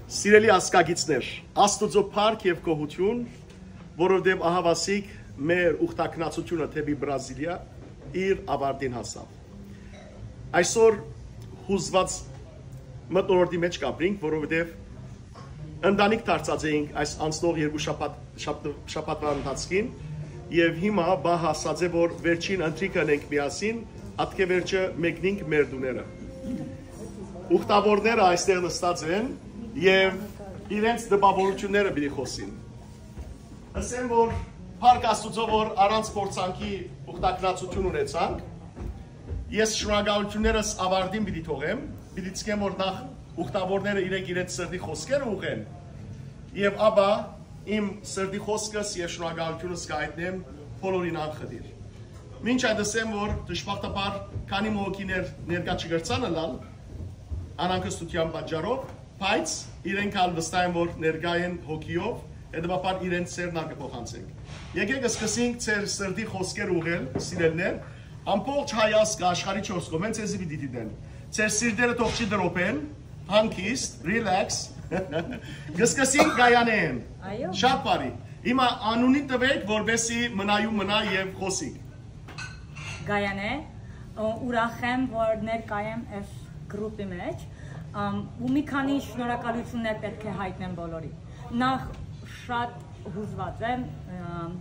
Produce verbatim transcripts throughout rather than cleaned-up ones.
Սիրելի ազգագիցներ, Աստուծոյ փառք եւ գոհութիւն, որովհետեւ ահաւասիկ մեր ուխտագնացութիւնը դէպի Բրազիլիա իր աւարտին հասաւ։ Այսօր յուզուած մթնոլորտի մէջ կ'ապրինք, որովհետեւ ընտանիք դարձած էինք այս անցնող երկու շաբաթ-, շաբթ-, շաբաթուան ընթացքին, եւ հիմա պահ հասած է, որ վերջին ընթրիքը ընենք միասին, ատկէ վերջը մեկնինք մեր տուները։ Ուխտաւորները այստեղ նստած են եւ իրենց տպաւորութիւնները պիտի խօսին։ Ըսեմ, որ փառք Աստուծոյ, որ առանց փորձանքի ուխտագնացութիւն ունեցանք։ Ես շնորհակալութիւններս աւարտին պիտի թողեմ, պիտի ցկեմ, որ նախ ուխտաւորները իրենք իրենց սրտի խօսքերը ուղղեն, եւ ապա իմ սրտի խօսքս եւ շնորհակալութիւնս կ'այտնեմ բոլորին անխտիր։ Մինչ այդ ըսեմ, որ դժբախտաբար քանի մը հոգիներ ներկայ չկրցան ըլլալ անհանգստութեան պատճառով, բայց իրենք ալ վստահ են, որ ներկայ են հոգիով, հետեւաբար իրենց սերն ալ կը փոխանցենք։ Եկեք սկսենք ձեր սրտի խօսքերը ուղղել, սիրելիներ, ամբողջ հայ ազգը աշխարհի չորս կողմէն ձեզի պիտի դիտեն։ Ձեր սիրտերը թող չի տրոփեն, հանգիստ, relax։ Կսկսենք Գայանէն։ Այո։ Շատ բարի։ Հիմա անունի տվեք, որպեսզի մնայու մնայ եւ խօսիք։ Գայանէ, ը, ուրախ եմ, որ ներկայ եմ այս գրուպի մեջ, ըմ, ու մի քանի շնորհակալութիւններ պէտք է յայտնեմ բոլորին։ Նախ շատ յուզուած եմ, ըմ,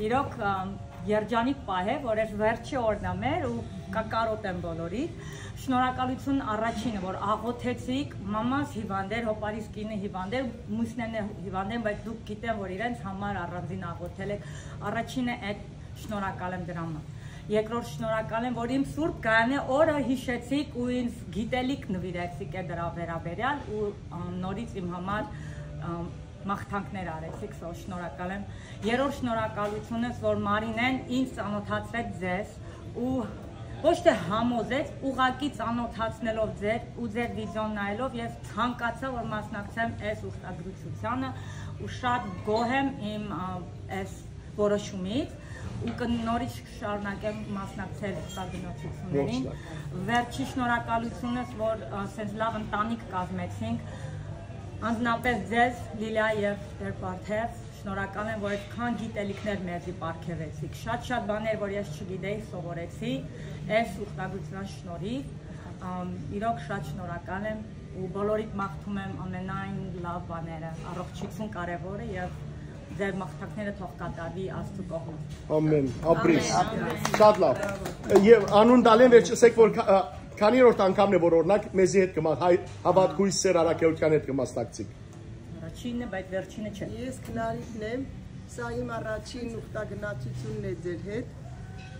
իրոք, ըմ, երջանիկ պահ է, որ այս վերջի օրն է մեր ու կակարոտեմ բոլորիդ։ Շնորհակալութիւն առաջինը, որ աղօթեցիք, մամաս հիվանդ էր, հոպարիս կինը հիվանդ էր, մյուսներն է հիվանդ են, բայց դուք գիտեմ, որ իրենց համար առանձին աղօթել եք։ Առաջինը այդ շնորհակալ եմ դրան։ Երկրորդ շնորհակալ եմ, որ իմ Սուրբ Գայանե օրը յիշեցիք ու ինձ գիտելիք նուիրեցիք է դրա վերաբերյալ ու, ըմ, նորից իմ համար, ըմ, մաղթանքներ արեցիք, սա շնորհակալ եմ։ Երրորդ շնորհակալությունս, որ Մարինեն ինձ ծանոթացրեց ձեզ ու ոչ թե համոզեց, ուղղակի ծանոթացնելով ձեր ու ձեր վիդեոն նայելով ես ցանկացա, որ մասնակցեմ այս ուխտագրությանը ու շատ գոհ եմ իմ, ը, այս որոշումից ու կը-, նորից կշարունակեմ մասնակցել ուխտագնացություններին։ Նորից։ Վերջի շնորհակալությունս, որ, ը, սենց լաւ ընտանիք կազմեցինք, անձնապես ձեզ, Լիլիա եւ Տեր Բարդեւ, շնորհակալ եմ, որ այսքան գիտելիքներ մեզի պարգեւեցիք։ Շատ-շատ բաներ, որ ես չգիտեի, սովորեցի այս ուխտագնացության շնորհիվ։ Ամ, իրոք շատ շնորհակալ եմ ու բոլորիդ մաղթում եմ ամենայն լաւ բաները, առողջություն կարեւորը եւ ձեր մաղթանքները թող կատարվի Աստուծո կողմէ։ Ամեն, ապրես։ Ամեն, ամեն։ Շատ լավ։ Եւ անուն տալեն վերջ, ասեք, որ քա-, ա, քանի երրորդ անգամն է, որ օրինակ մեզի հետ կմա-, հայ, հաւատքույս Սեր Առաքելութեան հետ կմասնակցիք։ Առաջինն է, բայց վերջինը չէ։ Ես Քնարիկն եմ, սա իմ առաջին ուխտագնացությունն է ձեր հետ,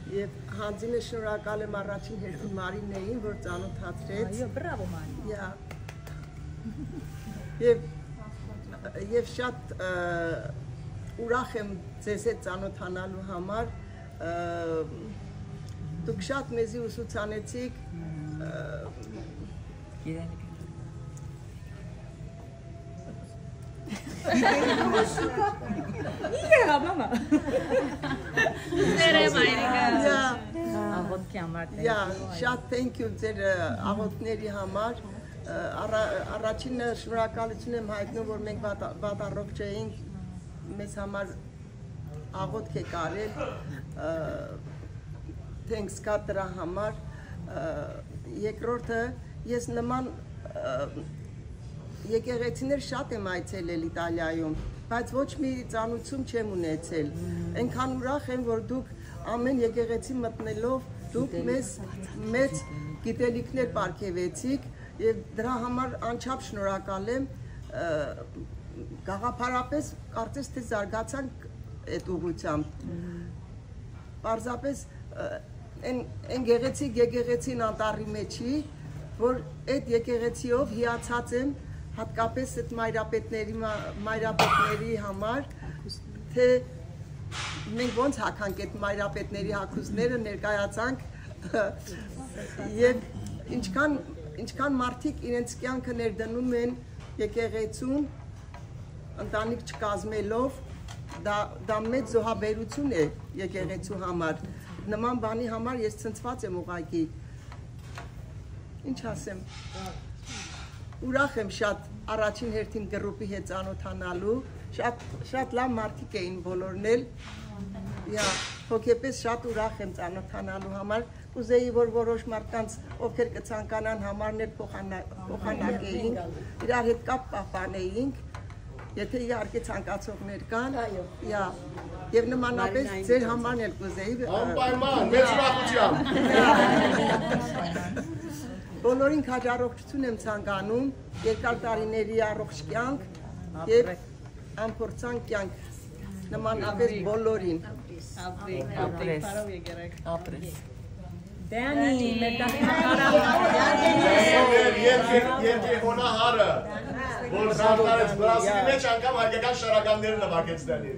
եւ յանձինը շնորհակալ եմ առաջին հերթին Մարինեին, որ ծանոթացրեց։ Այո, բրավո, Մարի։ Եա։ Եվ, եւ շատ, ը, ուրախ եմ ձեզ հետ ծանոթանալու համար, ը, դուք շատ մեզի ուսուցանեցիք, ը, Իրե, մամա։ Ներե, մայրիկա։ Եա, Աղոթքի համար, thank you. Եա, շատ thank you ձեր, ը, աղոթքների համար։ Ը, առա-, առաջինը շնորհակալություն եմ հայտնում, որ մենք վատ-, վատառողջ էինք, մեզ համար աղոթք է կարել, ը, thanks God դրա համար։ Ը, երկրորդը, ես նման, ը, եկեղեցիներ շատ եմ այցելել Իտալիայում, բայց ոչ մի ծանուցում չեմ ունեցել։ Այնքան ուրախ եմ, որ դուք ամեն եկեղեցի մտնելով, դուք մեզ մեծ գիտելիքներ պարգևեցիք, եւ դրա համար անչափ շնորհակալ եմ, ը, գաղափարապես կարծես թե զարգացանք այդ ուղղությամբ։ Պարզապես, ը, այն, այն գեղեցիկ եկեղեցին անտառի մեջ չի, որ այդ եկեղեցիով հիացած եմ, հատկապես այդ մայրապետների մա-, մայրապետների համար, թե մենք ոնց հագանք այդ մայրապետների հագուստները, ներկայացանք, եւ ինչքան, ինչքան մարդիկ իրենց կյանքը ներդնում են եկեղեցուն, ընտանիք չկազմելով, դա, դա մեծ զոհաբերություն է եկեղեցու համար։ Նման բանի համար ես ցնցված եմ ուղղակի։ Ինչ ասեմ։ Ուրախ եմ շատ առաջին հերթին գրուպի հետ ծանոթանալու։ Շատ, շատ լավ մարդիկ էին բոլորն էլ։ Յա, հոգեպես շատ ուրախ եմ ծանոթանալու համար։ Կուզեի, որ որոշ մարդկանց, ովքեր կցանկանան, համարներ փոխանա-, փոխանակեինք, իրար հետ կապ պահպանեինք, եթե իհարկե ցանկացողներ կան։ Այո։ Յա, եւ նմանապես Մարինային ձեր կցանց։ Համարն էլ կուզեի, ը, Անպայման, մեծ ուրախությամբ։ Բոլորին քաջառողջություն եմ ցանկանում, երկար տարիների առողջ կյանք եւ անփորձան կյանք, նմանապես բոլորին։ Ապրես, ապրես, բարով եկերեք։ Ապրես։ Դեանի, մեր դախմակարան։ Երկրի, երկրի հոնահարը, որ դարձած Բրազիլի մեջ անգամ հայկական շարականները նվագեց Դեանի։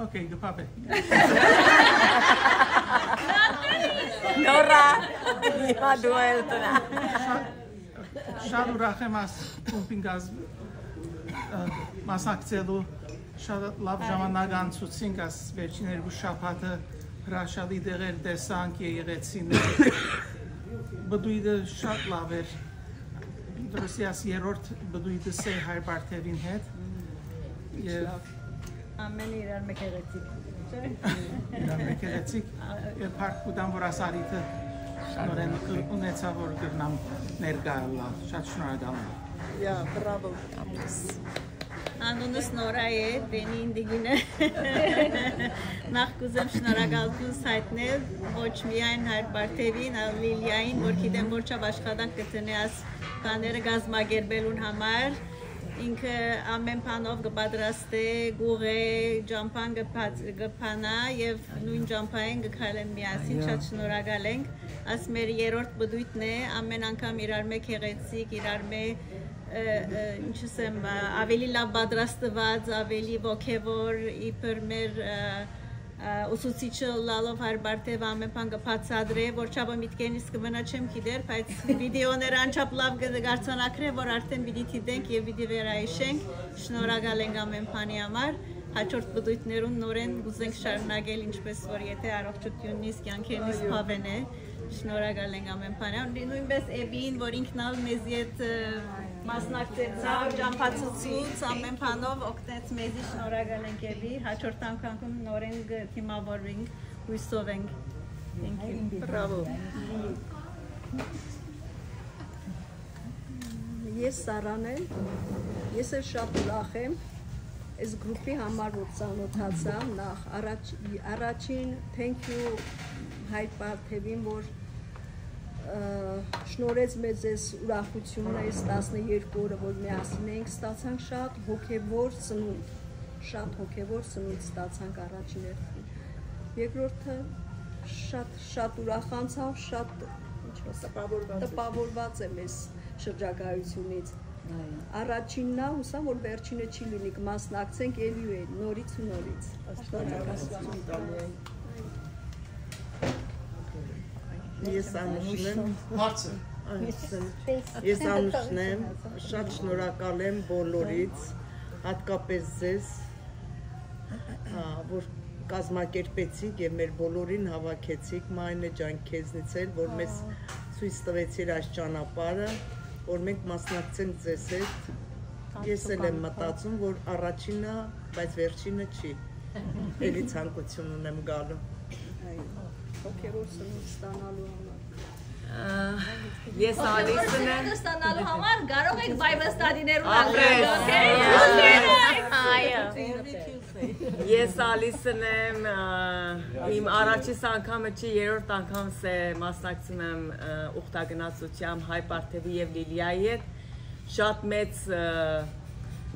Okay, կփապե։ Նորա, հիմա դու էլ տնա։ Շատ ուրախ եմ աս խումբին գազ-, ը, մասնակցելու, շատ լաւ ժամանակ անցուցինք աս վերջին երկու շաբաթը, հրաշալի տեղեր տեսանք, եղեցին, բդույթը շատ լաւ էր, դրսի աս երրորդ բդույթս է Հայր Բարթեւին հետ, եւ Ամեն իրար մը գեղեցիկ։ Իրար մը գեղեցիկ, եւ փառք կու տամ, որ աս առիթը նորեն ունեցա, որ կրնամ ներկայ ըլլալ։ Շատ շնորհակալ եմ։ Յա, բրավո։ Անունս Նորա է, Դենի Ինդիգինը։ Նախ կուզեմ շնորհակալություն հայտնել ոչ միայն Հայր Բարթեւին, այլ Լիլիային, որ գիտեմ որ չափ աշխատանք կը դնէ աս բաները կազմակերպելուն համար։ Ինքը ամեն բանով կը պատրաստէ, կուղէ, ճամփան կը բաց-, կը բանայ եւ նոյն ճամփային կը քայլեն միասին։ Շատ շնորհակալ ենք։ Աս մեր երրորդ բդույթն է, ամեն անգամ իրար մը գեղեցիկ, իրար մը, ը, ը, ինչ ասեմ, ա, ավելի լաւ պատրաստված, ավելի ոգեւոր, իբր մեր, ը, ը, ուսուցիչը լալով Հայր Բարթեւը ամեն բան կը բացատրէ, որ չափը միտքերնից կը մնա չեմ գիտեր, բայց վիդեոները անչափ լաւ կը, կ'արձանագրէ, որ արդեն պիտի դիտենք եւ պիտի վերայիշենք։ Շնորհակալ ենք ամեն բանի համար։ Հաջորդ բդույթներուն նորեն կուզենք շարունակել, ինչպես որ եթե առողջությունից, կյանքերնից բավեն է։ Շնորհակալ ենք ամեն բանի համար։ Նոյնպես Էվին, որ ինքն ալ մեզի հետ, ը, մասնակցեցաւ, ճամփացուցուց, ամեն բանով օգնեց մեզի, շնորհակալ ենք Էվի։ Հաջորդ անգամ նորեն կը դիմավորվենք, հույսով ենք։ Thank you։ Բրավո։ Ես Սարան եմ, ես էլ շատ ուրախ եմ այս գրուպի համար, որ ծանոթացամ, նախ առաջ-, առաջին thank you Հայր Բարթեւին, որ, ը, շնորհեց մեզ այս ուրախությունը, այս տասներկու օրը, որ միասին ենք, ստացանք շատ հոգեւոր սնունդ, շատ հոգեւոր սնունդ ստացանք առաջին հերթին։ Երկրորդը, շատ, շատ ուրախանցանք, շատ, ինչ ասեմ, տպավորված եմ։ Տպավորված եմ այս շրջագայությունից։ Այո։ Առաջինն ա, հուսամ, որ վերջինը չի լինի, կմասնակցենք էլի ու էլի, նորից ու նորից։ Աստուած։ Ես Անուշն եմ։ Հարցը։ Անուշն եմ։ Ես Անուշն եմ, շատ շնորհակալ եմ բոլորից, հատկապես ձեզ, ա, որ կազմակերպեցիք եւ մեր բոլորին հավաքեցիք, Մայնե ջան, քեզնից էլ, որ մեզ ցոյց տվեցիր այս ճանապարհը, որ մենք մասնակցենք ձեզ հետ։ Ես էլ եմ մտածում, որ առաջինը, բայց վերջինը չի։ Էլի ցանկություն ունեմ գալու։ Հոգեւոր սնունդ ստանալու համար։ Ա, ես ալիսն եմ։ Ստանալու համար կարող եք Bible study-ներուն Ապրես։ Ալրել, okay? Այո։ Ես ալիսն եմ, ա, իմ առաջին անգամը չի, երրորդ անգամս է մասնակցում եմ, ա, ուխտագնացությամբ Հայ Պարթևի եւ Լիլիայի հետ։ Շատ մեծ, ա,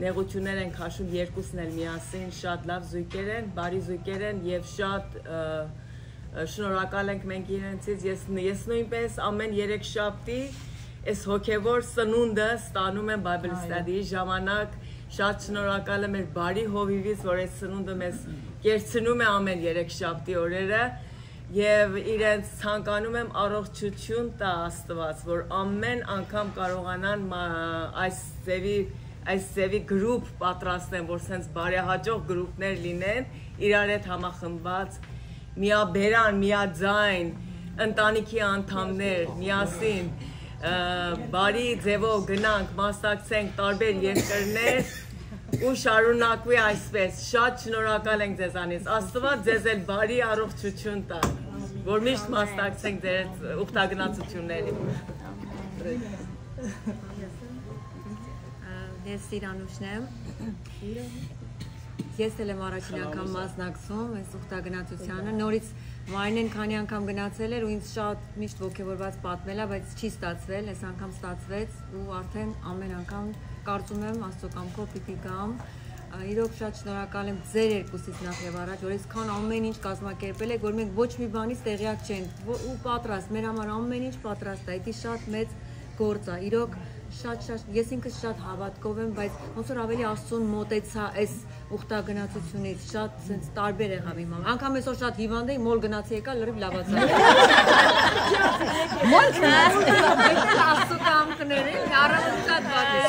նեղություններ են քաշում երկուսն էլ միասին, շատ լավ զույգեր են, բարի զույգեր են եւ շատ, ա, ա, շնորհակալ ենք մենք իրենցից։ Ես, ես նույնպես ամեն երեք շաբթի այս հոգեվոր սնունդը ստանում եմ Bible study-ի ժամանակ։ Շատ շնորհակալ եմ մեր բարի հովիվից, որ այս սնունդը մեզ կերցնում է ամեն երեք շաբթի օրերը։ Եվ իրենց ցանկանում եմ առողջություն տա Աստված, որ ամեն անգամ կարողանան մա-, այս ձևի, այս ձևի գրուպ պատրաստեն, որ սենց բարեհաջող գրուպներ լինեն, իրար հետ համախմբված, միաբերան, միաձայն, ընտանիքի անդամներ, միասին, Ը, բարի ձևով գնանք, մասնակցենք տարբեր երկրներ ու շարունակուի այսպես։ Շատ շնորհակալ ենք ձեզանից։ Աստուած ձեզ էլ բարի առողջություն տա, որ միշտ մասնակցենք ձեր ուխտագնացություններին։ Ես Սիրանուշն եմ։ Ես էլ եմ առաջին անգամ մասնակցում այս ուխտագնացությանը։ Նորից Մարինեն քանի անգամ գնացել էր ու ինձ շատ միշտ ոգևորված պատմելա, բայց չի ստացվել, այս անգամ ստացվեց ու արդեն ամեն անգամ կարծում եմ Աստծո կամքով պիտի գամ։ Ա, իրոք շատ շնորհակալ եմ ձեր երկուսից նախ եւ առաջ, որ այսքան ամեն ինչ կազմակերպել եք, որ մենք ոչ մի բանից տեղյակ չենք, ո-, ու պատրաստ, մեր համար ամեն ինչ պատրաստ է, դա շատ մեծ գործ է։ Իրոք շատ, շատ, ես ինքս շատ հավատքով եմ, բայց ոնց որ ավելի Աստծուն մոտեցա այս ուխտագնացությունից, շատ սենց տարբեր եղավ իմ համար։ Անգամ այսօր շատ հիվանդ էի, մոլ գնացի եկա, լրիվ լավացա։ Մոլ գնացի, Աստծո կամքն էր, էլի, առաւել շատ վատ էր։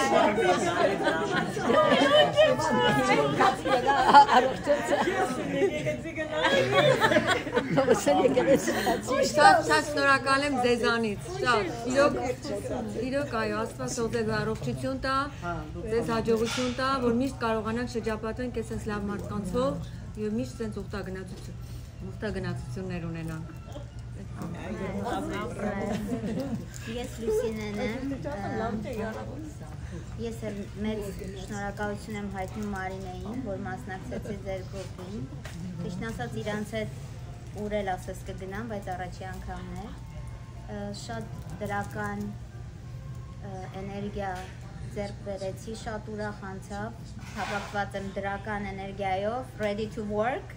Առողջացա։ Շատ, շատ շնորհակալ եմ ձեզանից, շատ։ Իրոք, իրոք, այո, Աստված թող ձեզ առողջություն տա, ձեզ հաջողություն տա, որ միշտ կարողանանք շրջապատենք այսպես լավ մարդկանցով եւ միշտ սենց ուխտագնացություն, ուխտագնացություններ ունենանք։ Ես Լուսինեն եմ, ը, ես էլ մեծ շնորհակալություն եմ հայտնում Մարինեին, որ մասնակցեցի ձեր գրուպին։ Ճիշդն ասած, իրանց հետ ուր էլ ասես կգնամ, բայց առաջի անգամն է։ Ը, շատ դրական, ը, էներգիա ձեռք բերեցի, շատ ուրախ անցաւ, հավաքված եմ դրական էներգիայով, ready to work։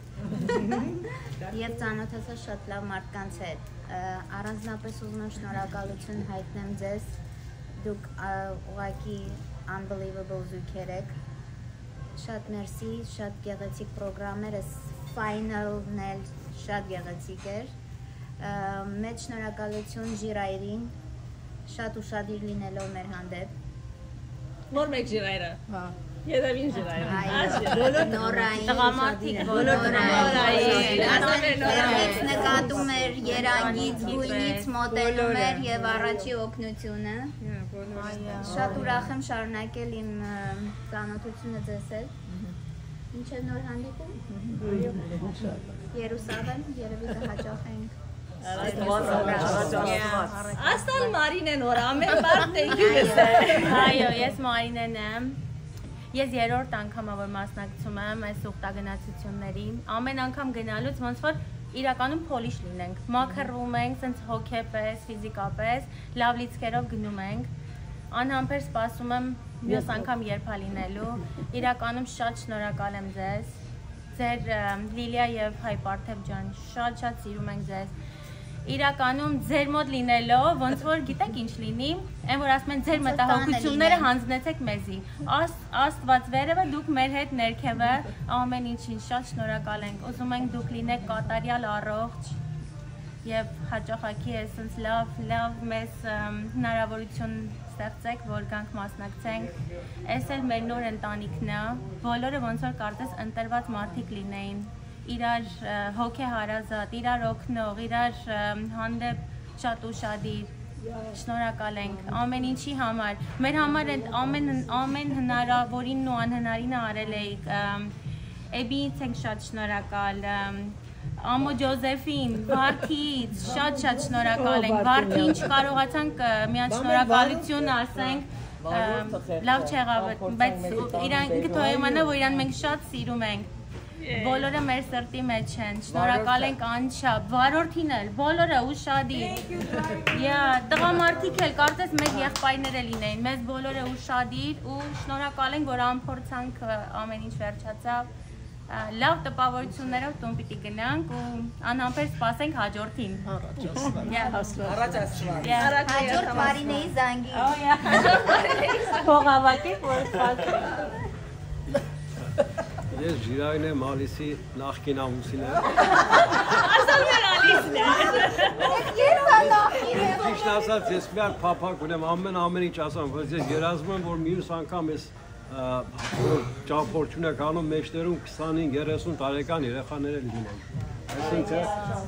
Եվ ծանոթացա շատ լավ մարդկանց հետ։ Ը, առանձնապես ուզում եմ շնորհակալություն հայտնեմ ձեզ։ Դուք, ա, ուղղակի unbelievable զույգեր եք։ Շատ մերսի, շատ գեղեցիկ պրոգրամներ, այս final-ն էլ շատ գեղեցիկ էր։ Ը, մեծ շնորհակալություն Ժիրայրին, շատ ուշադիր լինելով մեր հանդեպ։ Նոր մեկ Ժիրայրը։ Հա։ Երևին Ժիրայրը։ Այո, բոլոր նորային, տղամարդիկ, բոլոր նորային, նորային։ Ասեն, հերմից նկատում էր, երանգից, գույնից մոտենում էր եւ առաջի օգնությունը։ Շատ ուրախ եմ շարունակել իմ, ը, ծանոթությունը ձեզ հետ։ Մինչեւ նոր հանդիպում։ Երուսաղեմ, երևի կհաճախենք։ Աստուած, Աստուած։ Աստան Մարինեն որ ամեն բան, thank you, Mister։ Այո, ես Մարինեն եմ։ Ես երրորդ անգամը որ մասնակցում եմ այս ուխտագնացություններին։ Ամեն անգամ գնալուց ոնց որ իրականում փոլիշ լինենք, մաքրվում ենք, սենց հոգեպես, ֆիզիկապես, լավ լիցքերով գնում ենք։ Անհամբեր սպասում եմ մյուս անգամ երբ ա լինելու։ Իրականում շատ շնորհակալ եմ ձեզ։ Ձեր, ը, Լիլիա եւ Հայ Պարթեւ ջան, շատ, շատ սիրում ենք ձեզ։ Իրականում ձեր մոտ լինելով, ոնց որ գիտեք ինչ լինի, այն որ ասում են ձեր մտահոգությունները յանձնեցեք մեզի։ Աս-, Աստված վերևը, դուք մեր հետ ներքևը, ամեն ինչին շատ շնորհակալ ենք։ Ուզում ենք դուք լինեք կատարյալ առողջ եւ հաճախակի էսենց լավ, լավ մեզ, ըմ, հնարավորություն ստեղծեք, որ գանք մասնակցենք։ Էս էլ մեր նոր ընտանիքն է, բոլորը ոնց որ կարծես ընտրված մարդիկ լինեին, իրար, ը, հոգեհարազատ, իրար օգնող, իրար, ը, հանդեպ շատ ուշադիր։ Շնորհակալ ենք ամեն ինչի համար։ Մեր համար են ամեն, ամեն հնարավորինն ու անհնարինը արել էիք, ըմ, Էբիից ենք շատ շնորհակալ, ըմ, Ամո Ջոզեֆին, Վարդից շատ, շատ շնորհակալ ենք։ Վարդին չկարողացանք, ը, միան շնորհակալություն ասենք, ը, լավ չեղավ, բայց իրան ինքը թող իմանա, որ իրան մենք շատ սիրում ենք։ Բոլորը մեր սրտի մեջ են։ Շնորհակալ ենք անչափ։ Վարորդին էլ, բոլորը ուշադիր։ Yeah, տղամարդիկ էլ, կարծես մեր եղբայրները լինեին։ Մեզ բոլորը ուշադիր ու շնորհակալ ենք, որ անփորձանք, ը, ամեն ինչ վերջացավ։ Ա, լավ տպավորություններով տուն պիտի գնանք ու անհամբեր սպասենք հաջորդին։ Առաջ Աստված։ Yeah. Առաջ Աստված։ Yeah. Հաջորդ Մարինեի զանգի։ Oh, yeah. Փող հավաքեք, որ սպասենք։ Ես Ժիրայրն եմ, Ալիսի նախկին ամուսինը։ Ասում էր Ալիսն է։ Ես երբ ա նախկին եմ։ Ճիշտ ասած, ես միակ փափակ ունեմ, ամեն, ամեն ինչ ասեմ, բայց ես երազում եմ, որ մյուս անգամ ես, ա, որ ճամփորդություն եք անում, մեջտերում քսանհինգ երեսուն տարեկան երեխաներ էլ լինեն։ Այսինքն,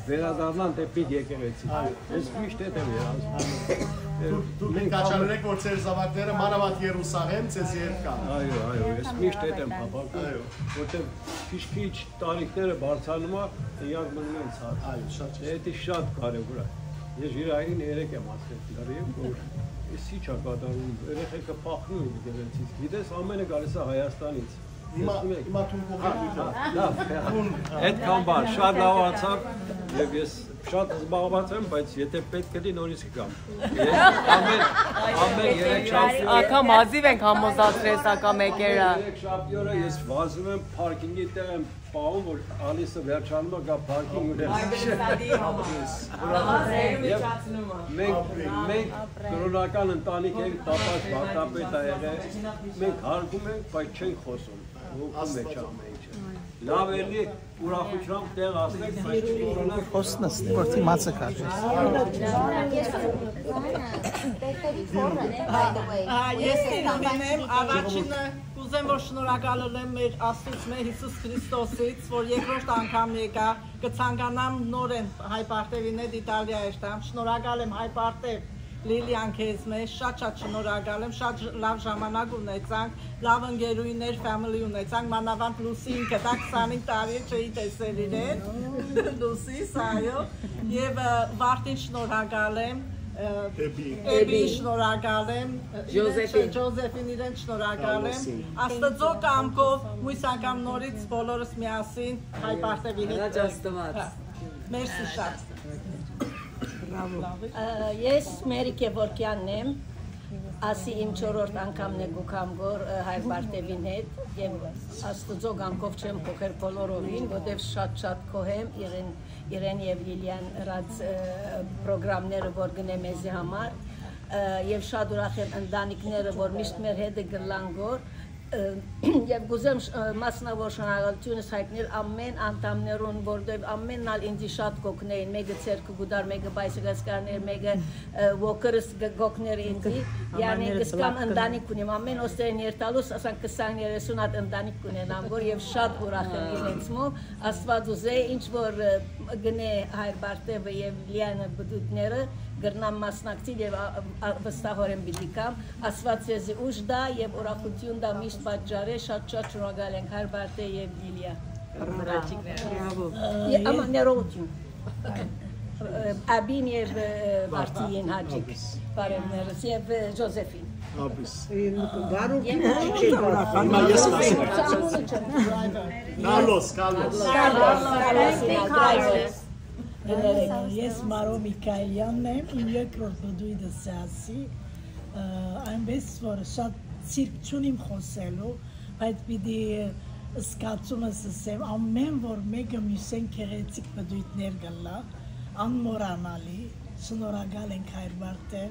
վերադառնան դէպի եկեղեցի։ Ես միշտ հետ եմ երազում։ Դուք, դուք մենք կաչալերեք, որ ձեր զաւակները մանաւանդ Երուսաղեմ ձեզ հետ կան։ Այո, այո, ես միշտ հետ եմ փափաքում, այո, որտեղ քիչ-քիչ տարիքները բարձրանում ա, իրար մնում են ցած։ Այո, շատ ճիշտ։ Դա շատ կարեւոր է։ Ես իր այրին երեկ եմ ասել լրիվ, որ ես ի՞նչ ա կատարում, երեխեքը փախնում են եկեղեցից։ Գիտես, ամենը գալիս է Հայաստանից։ Հիմա, տեսնում եք, հիմա դուն փոխեք։ Հա, լավ, հա։ Դուն, հա։ Այդքան բան, շատ լավ անցաւ, եւ ես շատ զբաղված եմ, բայց եթե պետք գտի, նորից կգամ։ Ես ամեն, ամեն երեք շաբթի օրը, անգամ հազիվ ենք համոզացրել, սակայն մեկերը։ Ամեն երեք շաբթի օրը ես վազում եմ, պարքինգի տեղ եմ պահում, որ Ալիսը վերջանում է, գա պարքինգ ունենա։ Այ, Վենեսալի համար։ Ահա, ձեր միջոցումը։ Մենք, մենք կրօնական ընտանիք ենք, տապած վարդապետ ա եղել, մենք հարգում ենք, բայց չենք խոսում։ Հոգու մեջ ամեն ինչը։ Լավ էլի, ուրախությամբ տեղ ասենք, բայց չմոռանանք խոսնս, որ դիմացը քաշես։ Ա, ես Էմինեմ, առաջինը կուզեմ, որ շնորհակալ ըլեմ մեր Աստուծմէ Յիսուս Քրիստոսից, որ երկրորդ անգամ եկայ, կցանկանամ նորէն Հայ Պարտեւին հետ Իտալիա երթամ։ Շնորհակալ եմ Հայ Պարտեւ Լիլիան քեզմէ, շատ շատ շնորհակալ եմ, շատ ժ-, լավ ժամանակ ունեցանք, լավ ընկերուհիներ, family ունեցանք, մանաւանդ Լուսին, կտա քսանհինգ տարի չէի տեսել իրեն, Լուսիս, այո, եւ, ը, Վարդին շնորհակալ եմ, ը, Էբի։ Էբի շնորհակալ եմ, իրեն Ջոզեֆին։ Ջոզեֆին իրեն շնորհակալ եմ, Կալոսին։ Աստծո կամքով, մոյս անգամ նորից բոլորս միասին Հայ Պարտեւի հետ։ Հրաչ Աստված։ Հա, մերսի շատ։ Բրավո։ Ը, ես Մերի Գևորգեանն եմ, ասի իմ չորրորդ անգամն է գուքամ գոր, ը, Հայ Պարտեվին հետ, եւ Աստուծո կամքով չեմ փոխեր բոլորովին, որտեւ շատ-շատ գոհ եմ իրեն, իրեն եւ Լիլիան ըրած, ը, պրոգրամները, որ գնե մեզի համար, ը, եւ շատ ուրախ եմ ընտանիքները, որ միշտ մեր հետը գլան գոր, ը, եւ կուզեմ շ-, ը, մասնաւոր շնորհակալութիւնս յայտնել ամեն անդամներուն, որտեւ ամենն ալ ինձի շատ կօգնէին, մէկը ձեռքը կու տար, մէկը bicycle կար, մէկը, ը, walker-ս կը-, կօգներ ինձի, յանի կսկամ ընտանիք ունիմ, ամեն օստրեն երթալուս, ասանք քսան երեսուն հատ ընտանիք կունենամ, որ եւ շատ ուրախ եմ իրենց մը, Աստված ուզէ, ինչ որ, ը, գնե Հայր Պարտեւը եւ Լիանը բդուտները, կրնամ մասնակցիլ եւ ա-, ա-, վստահորեն պիտի կամ, Աստված ձեզի ուժ տայ եւ ուրախութիւն տայ միշտ պատճառէ, շատ-շատ շնորհակալ ենք Հայր Պարտէ եւ Լիլիա։ Բրավո։ Ե-, ամա ներողություն։ Ը, Աբին եւ, ը, Վարդին Հաճիկ, բարեւներս եւ, ը, Ջոզեֆին։ Աբիս։ Բարոյ Հիմա ես կասեմ։ Կալոս, Կալոս։ Կալոս, Կալոս։ Ես Մարո Միքայելյանն եմ, իմ երկրորդ բդույթս է ասի, ը, այնպես որ շատ ցիրկ չունիմ խոսելու, բայց պիտի զգացումս ասեմ, ամեն որ մէկը մյուսեն գեղեցիկ բդույթներ կլա, անմոռանալի, շնորհակալ ենք Հայր Պարտեվ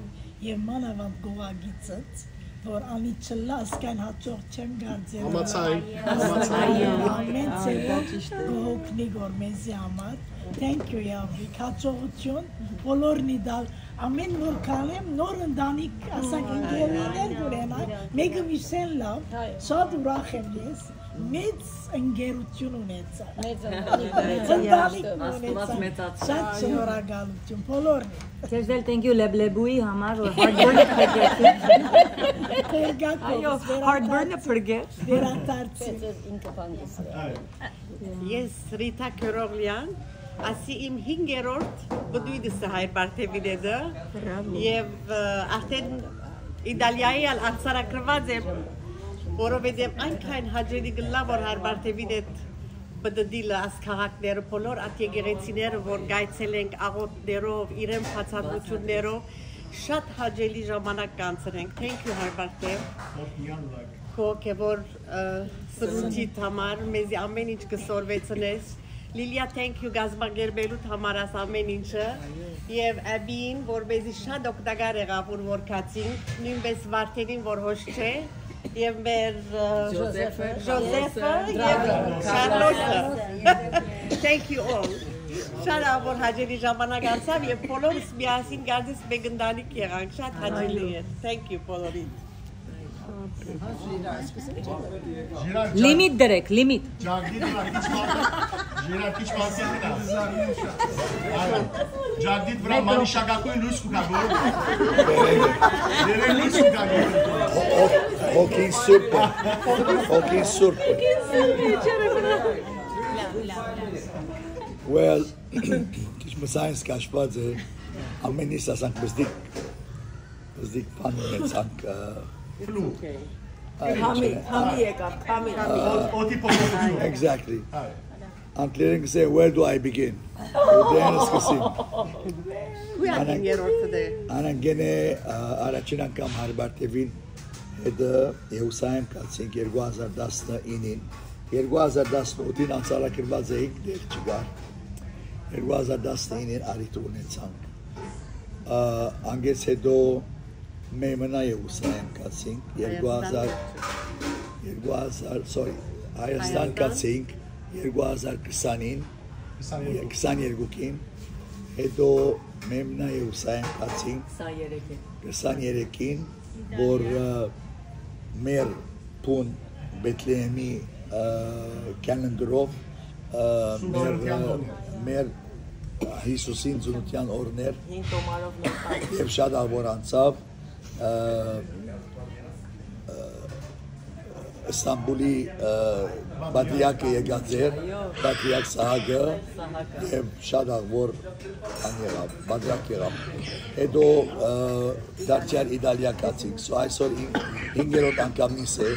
եւ մանավանդ գողագիծդ, որ անի չլա, ասկայն հաջող չեմ կարծել։ Համաձայն, համաձայն։ Ամեն ձևով կհոգնի գոր մեզի համար։ Thank you, Յավրիկ, հաջողություն, բոլորնի դալ, ամեն որ կանեմ, նոր ընտանիք, ասանք, ընկերուհիներ կունենա, մեկը մյուսեն լավ, շատ ուրախ եմ ես, մեծ ընկերություն ունեցա։ Մեծ ընտանիք, մեծ ընտանիք Աստված ունեցա, մեծացրեց։ Շատ շնորհակալություն, բոլորնի։ Քեզ էլ thank you Լեբլեբուի համար, որ hardburn-ը փրկեցին։ Թերգակով, այո, hardburn-ը փրկեց։ Վերադարձի։ Քեզ ինքը բան կսրե։ Ես Ռիթա Քյորօղլեան, ասի իմ հինգերորդ բդույթս է Հայր Պարթեւին հետը, բրավո, եւ, ը, արդեն Իտալիայի ալ արձանագրված եմ, որովհետեւ այնքան հաճելի կլա, որ Հայր Պարթեւին հետ պտտիլը աս քաղաքները, բոլոր այդ եկեղեցիները, որ գայցել ենք աղոթներով, իրեն բացատրություններով, շատ հաճելի ժամանակ կանցնենք։ Thank you, Հայր Պարթեւ։ Քո հոգեվոր, ը, սրունչիդ համար, մեզի ամեն ինչ կսորվեցնես։ Լիլիա, thank you, կազմակերպելուդ համար աս ամեն ինչը։ Եվ Աբին, որ մեզի շատ օգտակար եղաւ, ուր որ գացինք, նույնպես Վարդենին, որ հոս չէ, եւ մեր, ը, Ջոզեֆը, Ջոզեֆը եւ Քարլոսը։ Thank you all. Շատ ա, որ հաճելի ժամանակ անցաւ եւ բոլորս միասին գազից մեկ ընտանիք եղանք, շատ հաճելի էր։ Thank you բոլորին։ Limit direkt, limit. Ջագդիթ վրայ քիչ մա-, Ժիրար քիչ մազդի գնա։ Ջագդիթ վրայ մանիշակագոյն լոյս կու գայ։ Դերեն լոյս կու գայ։ Հոգին սուրբ է։ Հոգին սուրբ է։ Well, քիչ մը science կաշված է, ամեն ինչ ասանք մզդիկ, մզդիկ բան ունեցանք, ը, Քամի, քամի եկաւ, քամի։ Օդի փոփոխութիւն։ Exactly. Անկլերեն կսե, "Where do I begin?" Ուրդէն սկսեմ։ Քու ատին երրորդը դե։ Անան գենե, ա, առաջին անգամ Հայր Բարթեւին հետ, ը, Երուսաղեմ գացինք երկու հազար տասնինին։ Երկու հազար տասնութին անցալակրված էինք, դեռ չկար։ Երկու հազար տասնինին առիթ ունեցանք։ Ա, անգեց հետո Մեմնա Երուսաղեմ գացինք, երկու հազար, երկու հազար, sorry, Հայաստան Հայաստան։ Գացինք երկու հազար քսանին, քսաներկու։ Քսաներկուին, հետո Մեմնա Երուսաղեմ գացինք քսաներեքին։ Քսաներեքին, որ, ը, մեր բուն Բեթլեհեմի, ը, կալենդրով, ը, մեր, ը, մեր Հիսուսին ծնունդեան օրներ Հին տոմարով նոր եւ շատ աղ որ անցաւ, ը, ը, Ստամբուլի, ը, պատրիարքը եկած էր, պատրիարք Սահակը, Սահակը։ Եւ շատ աղ որ ան եղաւ, պատրիարք եղաւ։ Հետո, ը, դարձյալ Իտալիա գացինք։ So այսօր հին-, հինգերորդ անգամնիս է,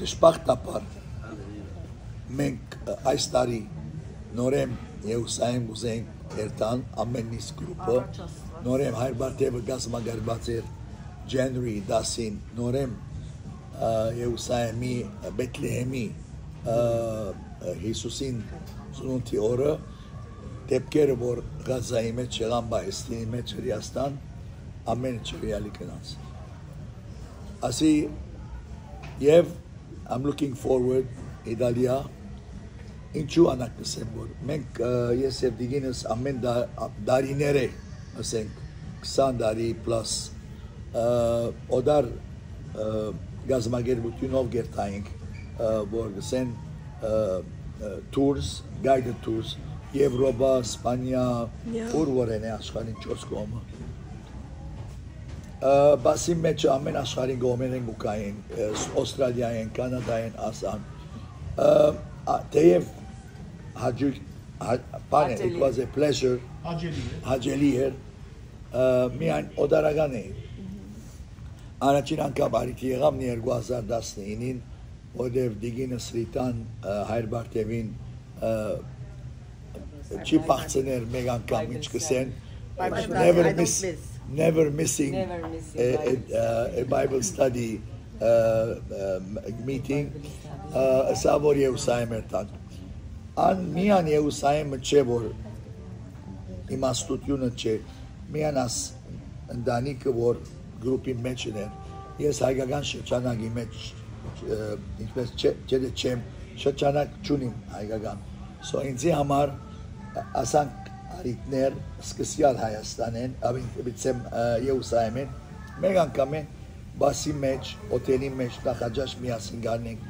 դժբախտաբար, մենք, ը, այս տարի նորեն Երուսաղեմ կուզենք երթալ, ամեն նիս գրուպը, նորեն Հայր Բարթեւը կազմակերպած էր January տասին, նորեն, ը, Երուսաղեմի, Բեթլեհեմի, ը, Հիսուսին ծնունդի օրը, դեպքերը, որ Ղազայի մեջ եղան, Պաղեստինի մեջ, Հրեաստան, ամէնքը չռեալի գնաց։ Ասի, եւ I'm looking forward, Իտալիա, ինչու անակ կսեմ, որ մենք, ը, ես եւ դիգինս ամեն դա-, տարիներ է, ասենք, քսան տարի պլաս, ը, օտար, ը, գազམ་ակերպութիւնով կերթայինք, ը, որ կսեն, ը, ը, tours, guided tours, Եվրոպա, Սպանիա, Yeah. Ուր որ են է աշխարհին չորս կողմը։ Ը, բասի մեջ ամեն աշխարհին կողմերեն կու գային, ը, Օստրալիայեն, Կանադայեն, ասան։ Ը, ա, թեև հաճույք, հա-, բան է, it Հաճելի։ Was a pleasure, Հաճելի է։ Հաճելի էր, ը, միայն օտարական է։ Առաջին անգամ առիթ եղաւ երկու հազար տասնինին, որտեւ դիգինս Ռիտան, ը, Հայր Բարթեւին, ը, չի բախցներ մեկ անգամ, ինչ կսեն, Bible study, never I don't miss, miss. Never missing Never missing a, a, Bible study. Uh, a Bible study, uh, meeting, Bible study. Uh, ըսա որ Երուսաղեմ էր տանք։ Ան միան Երուսաղեմը չէ, որ իմաստութիւնը չէ, միան աս ընտանիքը, որ գրուպի մեջ էր, ես հայկական շրջանակի մեջ, ը, ինչպես չէ, չէ, դե չեմ, շրջանակ չունիմ հայկական։ So ինձի համար, ը, ասանք, առիթներ սկսյալ Հայաստանեն, ավին, վիցեմ, ը, Երուսաղեմեն, մեկ անգամ է բասի մեջ, օթելի մեջ, նախաճաշ միասին գանենք,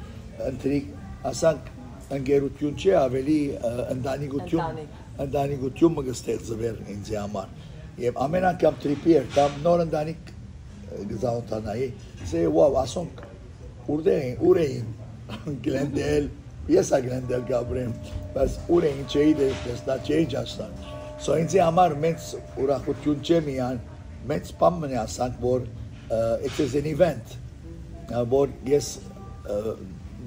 ընտրիկ, ասանք, ընկերություն չէ, ավելի, ը, ընտանիքություն, Ընտանիք։ Ընտանիքություն մը կստեղծվեր ինձի համար։ Եւ ամեն անգամ trip-ի էր, կամ նոր ընտանիք, ը, կզանոթանայի, say, "Wow, ասոնք ուրդե էին, ուր էին?" Գլենդել, ես ա Գլենդել կապրեմ, բայց ուր էին, չէի տես-, տեսնա, չէի ճաշտան։ So ինձի համար մեծ ուրախություն չէ միան, մեծ բան մնի ասանք, որ, ը, it is an event, ը, որ ես, ը,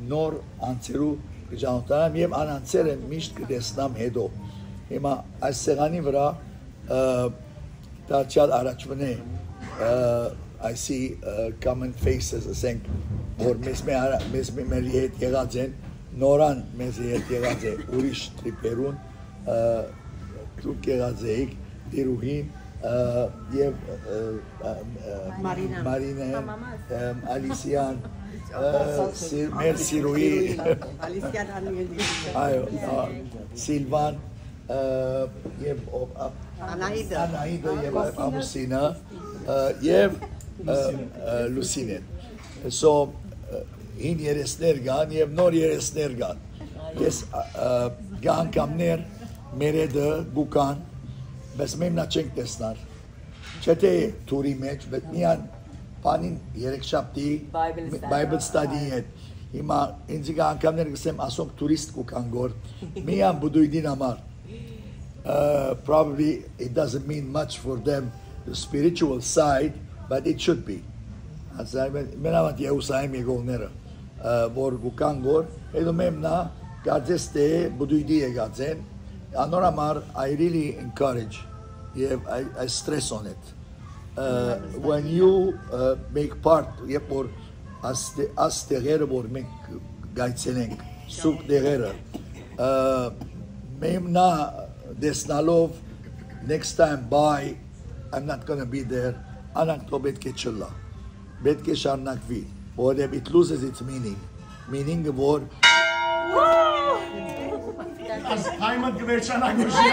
նոր անցերու կճանոթանամ եւ ան անցերը միշտ կտեսնամ հետո։ Հիմա այս սեղանի վրա, ը, դարձյալ առաջվնե, ը, այսի, ը, common faces, ասենք, որ մեզ մե արա-, մեզ մե մերի հետ եղած են, նորան մեզ հետ եղած է ուրիշ trip-երուն, ը, դուք եղած էիք, Տիրուհին, ը, եւ, ը, ը, ը, Մարինա։ Մարինեն, Համամաս։ Ը, Ալիսիան, ը, Սի-, մեր Սիրուհի, Ալիսիան Անմիելի։ Այո, ա, Սիլվան, ը, եւ ով, ա, Անահիտը։ Անահիտը եւ Ամուսինը։ Ամուսինը, ը, եւ, ը, ը, Լուսինեն։ So, ը, հին երեսներ կան եւ նոր երեսներ կան։ Ես, ը, ը, կան անգամներ մեր հետ կու գան, բայց մենք մնա չենք տեսնար։ Չէ՞ թէ թուրի մէջ, բայց միան բանին երեքշաբթի Bible study. Bible study հետ։ Հիմա ինձ կան անգամներ կ'ըսեմ, ասոնք թուրիստ կու գան գոր։ Միան բուդույդին համար։ Uh, probably it doesn't mean much for them, the spiritual side, but it should be. Ասա, մեն-, մենավանդ Երուսաղէմ եկողները, ը, որ կու կան գոր, հետո մեմնա կարծես թէ բուդույդի եկած են, անոր համար I really encourage եւ I, I stress on it. Uh, when you, uh, make part, երբ որ աս տե-, աս տեղերը որ մենք գայցելենք, սուրբ տեղերը, ը, մեմնա տեսնալով, next time, bye, I'm not gonna be there, անանք թող պէտք է չըլլայ, պէտք է շարունակուի, որովհետեւ it loses its meaning, meaning-ը որ Այս time-ը կվերջանա գուշի։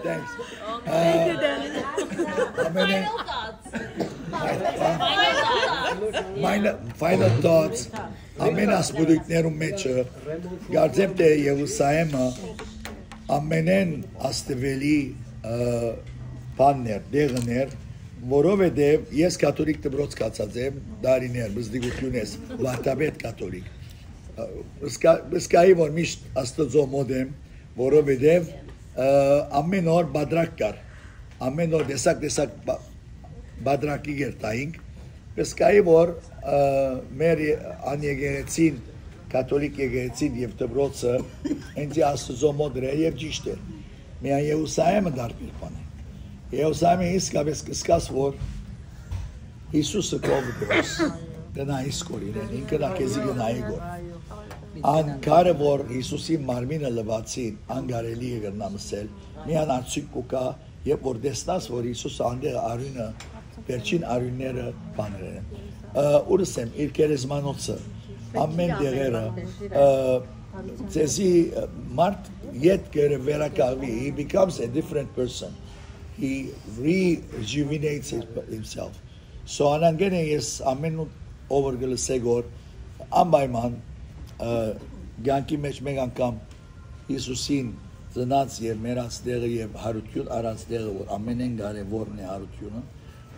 Thanks. Thank you, Dennis. Amene. Final thoughts. Final, final thoughts. Ամեն ասպուտիկներու մէջը, կարծեմ թէ Երուսաղէմը ամենէն աստուելի, ը, բանն էր, տեղն էր, որովհետեւ ես կաթոլիկ դպրոց գացած եմ, դարիներ, բզդիկությունէս, վարդապետ կաթոլիկ։ Ը, սկա-, սկայի որ միշտ Աստուծոյ մօտ եմ, որովհետեւ, ը, ամեն օր բادرک կար, ամեն օր տեսակ-տեսակ բա-, բادرک-ի կերտայինք, բայց կայի որ, ը, մեր ե-, անեկեղեցին, կաթոլիկ եկեղեցին եւ դպրոցը ինձի Աստուծոյ մոտ էր եւ ճիշտ էր։ Միայն Երուսաղէմը դարբեր բան է։ Երուսաղէմը իսկապես կսկաս որ Յիսուսը քով դրոս, կնայ իսկ որ իրեն, ինքը նա քեզի կնայի գոր։ Ան քարը որ Յիսուսի մարմինը լվացին, անկարելի է կրնամ ըսել, միան արդյունք կու գայ, երբ որ տեսնաս որ Յիսուսը անդեղ արիւնը, վերջին արիւնները բաներ են։ Ը, ուրս եմ, իր գերեզմանոցը, ամեն տեղերը, ը, ձեզի, ը, մարդ յետ կը վերակաղվի, he becomes a different person, he rejuvenates his-, himself. So անանգեն է ես ամեն ով որ կը լսե գոր անպայման, ը, կյանքի մեջ մեկ անգամ Յիսուսին ծնած եւ մեռած տեղը եւ յարութիւն առած տեղը, որ ամենէն կարեւորն է յարութիւնը,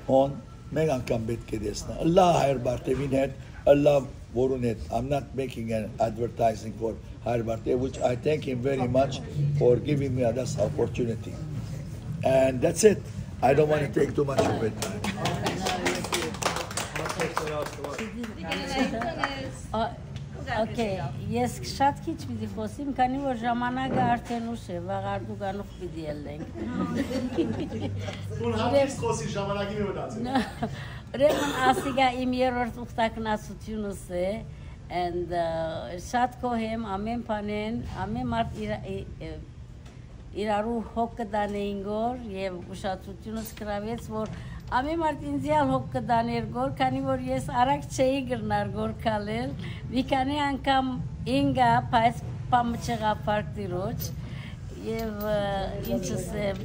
հոն մեկ անգամ պէտք է տեսնայ։ Ըլլայ Հայր Բարթեւին հետ, ըլլայ որուն հետ։ I'm not making an advertising for Հայր Բարթեւ, which I thank him very much for giving me this opportunity. And that's it. I don't want to take too much of it. Ա, okay, ես շատ քիչ պիտի խոսեմ, քանի որ ժամանակը արդեն ուշ է, վաղ արդուկանուխ պիտի ելնենք։ Ուն հատից խոսի ժամանակի մի մտածել։ Ուրեմն ասիկա իմ երրորդ ուխտագնացությունս է, and, ը, շատ գոհ եմ ամեն բանեն, ամեն մարդ իր, ի-, ը, իրարու հոգ կը տանէին գոր եւ ուշադրությունս գրաւեց, որ ամեն մարդ ինձի ալ հոգ կը տաներ գոր, քանի որ ես արագ չէի կրնար գոր քալել, մի քանի անգամ ինկա, բայց բան մը չեղա փառք Տիրոջ, եւ, ը, ինչս է, ը,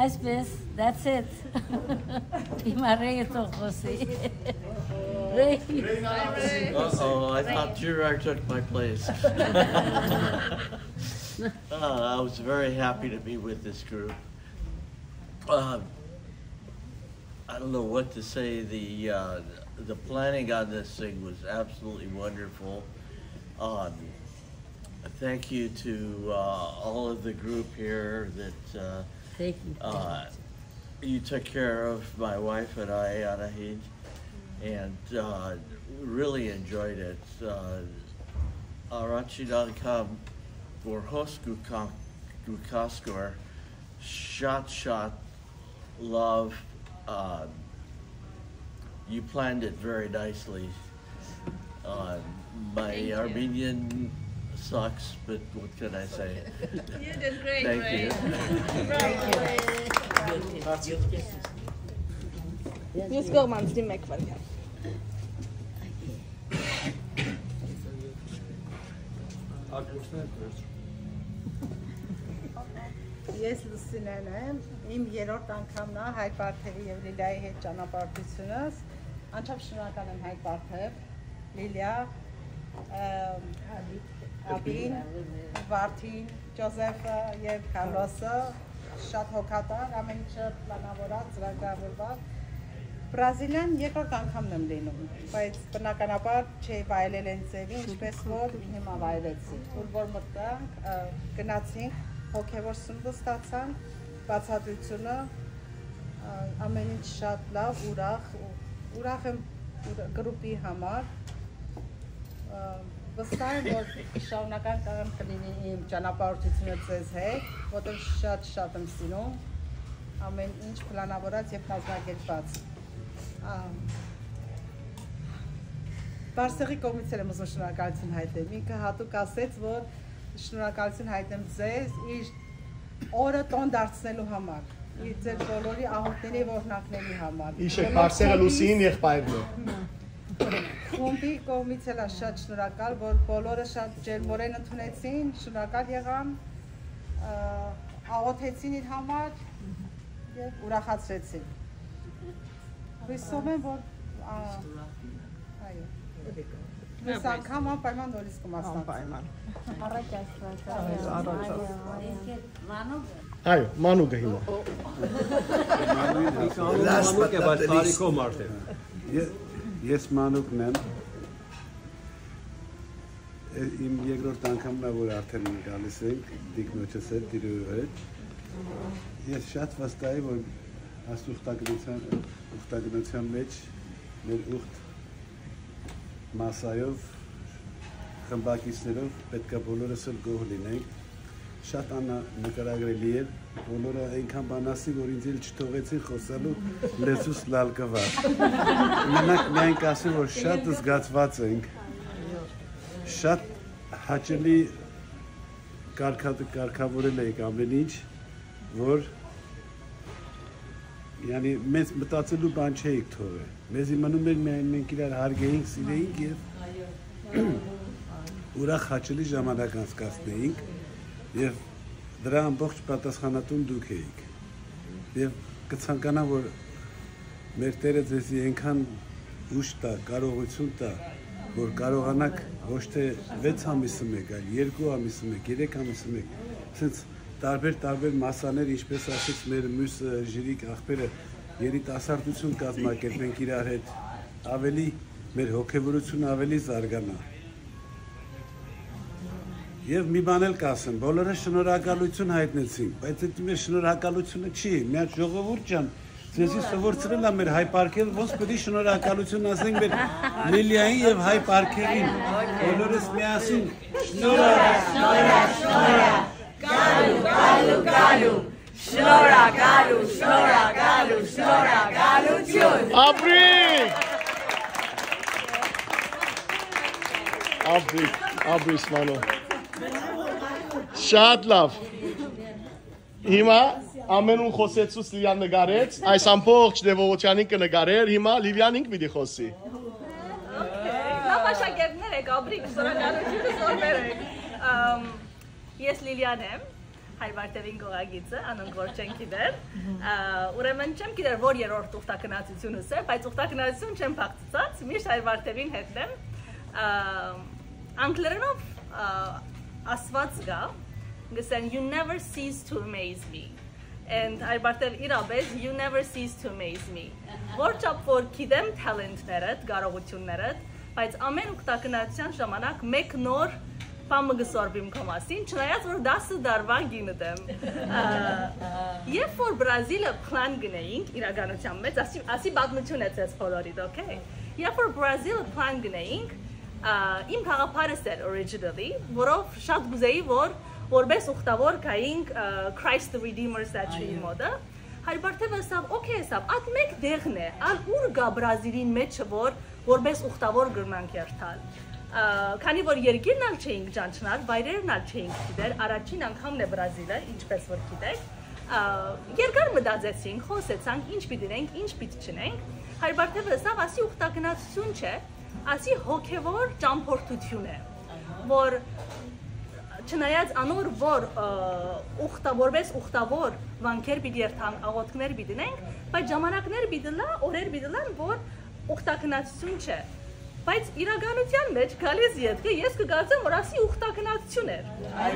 այսպես, that's it. Հիմա Ռեյը թող խոսի։ Ռեյ։ Uh-oh, I thought Gerard took my place. Uh, I was very happy to be with this group. Uh, I don't know what to say. The, uh, the planning on this thing was absolutely wonderful. Um, thank you to, uh, all of the group here that, uh, Thank you. uh, you took care of my wife and I, Anahid, and, uh, really enjoyed it. Uh, Arachi Dankam Gorhos Gukak Gukaskor, shot, shot, love. Um, you planned it very nicely. Uh, my Thank you. Armenian sucks, but what can I say? You did great, Thank Ray. you. Right. Let's go, man. Still make fun. Ես Լուսինեն եմ, իմ երրորդ անգամն է Հայր Բարթեւի եւ Լիլիայի հետ ճանապարհորդությունս։ Անչափ շնորհակալ եմ Հայր Բարթեւ, Լիլիա, ը, Աբին, Վարդին, Ջոզեֆը եւ Քարլոսը։ Շատ հոգատար, ամեն ինչը պլանավորած, ծրագրավորված։ Բրազիլիան երկրորդ անգամն եմ լինում, բայց բնականաբար չէի վայելել այն ձևի, ինչպես որ հիմա վայելեցի, ուր որ մտանք, ը, գնացինք, հոգեվոր սնունդ ստացանք, բացատրությունը, ը, ամեն ինչ շատ լավ, ուրախ, ուրախ եմ ուր-, գրուպի համար, ը, վստահ եմ, որ շարունակական կը լինի իմ ճանապարհորդությունը ձեզ հետ, որտեղ շատ, շատ եմ սիրում ամեն ինչ պլանավորած եւ կազմակերպված։ Ա, Բարսեղի կողմից էլ եմ ուզում շնորհակալություն հայտնել։ Ինքը հատուկ ասեց, որ շնորհակալություն հայտնեմ ձեզ, իր օրը տոն դարձնելու համար, իր ձեր բոլորի աղօթքների եւ օրհնակների համար։ Իշը Բարսեղը Լուսինին եղբայրն է։ Խումբի կողմից էլ շատ շնորհակալ, որ բոլորը շատ ջերմորեն ընդունեցին, շնորհակալ եղան, ա, աղօթեցին իր համար եւ ուրախացրեցին։ Հուսով եմ, որ, ա, այո։ Մյուս անգամ անպայման նորից կմասնակցեմ։ Անպայման։ Առաջ Աստված, այո, առաջ Աստված։ Այո, Մանուկը հիմա։ Մանուկ է, բայց տարիքով մարդ է։ Ե-, ես Մանուկն եմ։ Ե-, իմ երկրորդ անգամն է, որ արդեն գալիս ենք տիկնոջս հետ, տիրոյ հետ։ Ես շատ վստահ եմ, որ այս ուխտագնության, ուխտագնության մեջ մեր ուխտ մասայով, խմբակիցներով պետք է բոլորս էլ գոհ լինենք։ Շատ աննկարագրելի էր, բոլորը այնքան բան ասի, որ ինձ էլ չթողեցին խոսալու, լեզուս լալ կվար։ Մենակ միայն կասեմ, որ շատ զգացված ենք, շատ հաճելի կարգա-, կարգավորել էիք ամեն ինչ, որ, յանի, մեզ մտածելու բան չէիք թողել։ Մեզի մնում էր միայն մենք իրար հարգեինք, սիրեինք եւ ուրախ հաճելի ժամանակ անցկացնեինք, եւ դրա ամբողջ պատասխանատուն դուք էիք։ Եւ կցանկանամ, որ մեր Տերը ձեզի այնքան ուժ տայ, կարողություն տայ, որ կարողանաք ոչ թե վեց ամիսը մեկ, այլ երկու ամիսը մեկ, երեք ամիսը մեկ, սենց տարբեր-տարբեր մասաներ, ինչպես ասեց մեր մյուս, ը, ժիրիկ ախպերը, երիտասարդություն կազմակերպենք իրար հետ, ավելի, մեր հոգեվորությունը ավելի զարգանայ։ Եւ մի բան էլ կ'ասեմ, բոլորը շնորհակալություն հայտնեցին, բայց այդ մեր շնորհակալությունը չի, միայն ժողովուրդ ջան, ձեզի սովորցրել ա մեր Հայ Պարքերը, ոնց պիտի շնորհակալություն ասենք մեր Լիլիային եւ Հայ Պարքերին, բոլորս միասին, շնորհ, շնորհ, շնորհ, գալու, գալու, գալու, շնորհակալու, շնորհակալու, շնորհակալություն։ Ապրի, ապրի, Սմանո։ Շատ լավ։ Հիմա ամենուն խոսեցուց, Լիլիան նկարեց, այս ամբողջ տեւողութեան ինքը նկարեր, հիմա Լիլիան ինք պիտի խոսի։ Ահա, աշակերտներ եք, ապրիք, շնորհակալությունը զորներ եք։ Ամ, ես Լիլիան եմ, Հայր Վարդեվին կողակիցը, անոնք որ չեն գիտեր։ Ա, ուրեմն չեմ գիտեր որ երրորդ ուխտագնացությունս է, բայց ուխտագնացություն չեմ փակցած, միշտ Հայր Վարդեվին հետն եմ։ Ա, անգլերենով, ա, ասված կա, կսեն, "You never cease to amaze me." And Հայր Բարթև իրապես, "You never cease to amaze me." Որ չափ որ գիտեմ talent-ներդ, կարողություններդ, բայց ամեն ուխտագնացության ժամանակ մեկ նոր բան մը կսորվիմ քո մասին, չնայած որ տասը տարվա կինդ եմ։ Ա, երբ որ Բրազիլը plan գնեինք իրականության մեջ, ասի, ասի պատմություն է ձեզ բոլորիդ, okay? Երբ որ Բրազիլը plan գնեինք, ա, իմ գաղափարս էր originally, որով շատ կուզեի, որ որպես ուխտավոր գայինք, ա, Christ the Redeemer statue-ի մոտը։ Հայր Բարթևը ասաւ, "Okay", ասաւ, "ատ մէկ տեղն է, ալ ուր կա Բրազիլին մեջը, որ որպես ուխտավոր կրնանք երթալ"։ Ա, քանի որ երկիրն ալ չէինք ճանչնար, վայրերն ալ չէինք գիտեր, առաջին անգամն է Բրազիլը, ինչպես որ գիտեք, ա, երկար մտածեցինք, խոսեցանք, ինչ պիտի նենք, ինչ պիտի չնենք։ Հայր Բարթևը ասաւ, "Ասի ուխտագնացություն չէ, ասի հոգևոր ճամփորդություն է", որ չնայած անոր, որ, ը, ուխտա-, որպես ուխտավոր վանքեր պիտի երթանք, աղօթքներ պիտի ունենք, բայց ժամանակներ պիտի լա, օրեր պիտի լան, որ ուխտագնացություն չէ։ Բայց իրականության մեջ գալիս ետքը, ես կկարծեմ, որ ասի ուխտագնացություն էր,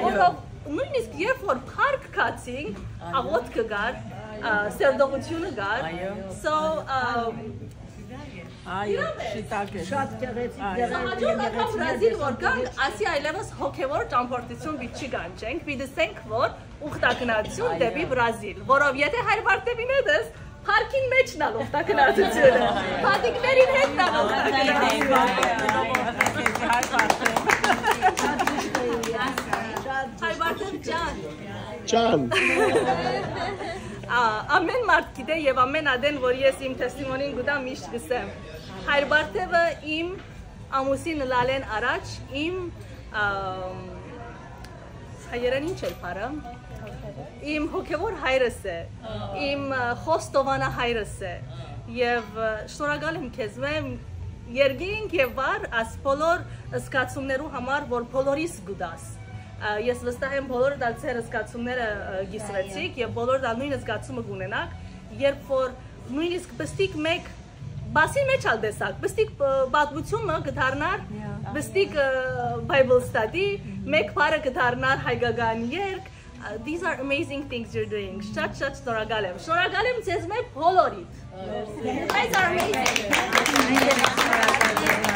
որով նույնիսկ երբ որ փառք գացին, աղօթքը կար, ը, սերտողությունը կար։ So, ը, Այո, իրավ է։ Շիտակ է։ Շատ գեղեցիկ, Այո։ Հաջորդ անգամ Բրազիլ որ գան, ասի այլևս հոգևոր ճամփորդություն պիտի չի գանչենք, պիտի ասենք, որ ուխտագնացություն Այո։ դեպի Բրազիլ, որով եթե հայր Բարթեւին հետ ես, փառքին մեջն ալ ուխտագնացությունը, փաթիկներին հետ ալ ուխտագնացությունը։ Հայր Բարթեւ ջան։ Ջան։ Ա, ամեն մարդ գիտէ եւ ամեն ատեն, որ ես իմ testimony-ն կուտամ, միշտ կսեմ։ Հայր Բարթեւը իմ ամուսին լալեն առաջ իմ, ամ, հայերեն ինչ էր բառը, իմ հոգեվոր հայրս է, իմ, ը, խոստովանա հայրս է, եւ, ը, շնորհակալ եմ քեզ, մեմ, երկինք եւ վար, աս բոլոր զգացումներու համար, որ բոլորիս գուտաս։ Ա, ես վստահ եմ, բոլորդ ալ ձեր զգացումները, ը, կիսվեցիք եւ բոլորդ ալ նույն զգացումը կունենաք, երբ որ նույնիսկ պստիկ մեկ բասի մեջ ալ տեսակ, պստիկ, ը, պատմությունը կդառնար, Yeah. պստիկ, ը, Bible study, մեկ բառը կդառնար հայկական երգ։ Uh, these are amazing things you're doing. Շատ, շատ շնորհակալ եմ։ Շնորհակալ եմ ձեզ մեր բոլորիդ։ You guys are amazing.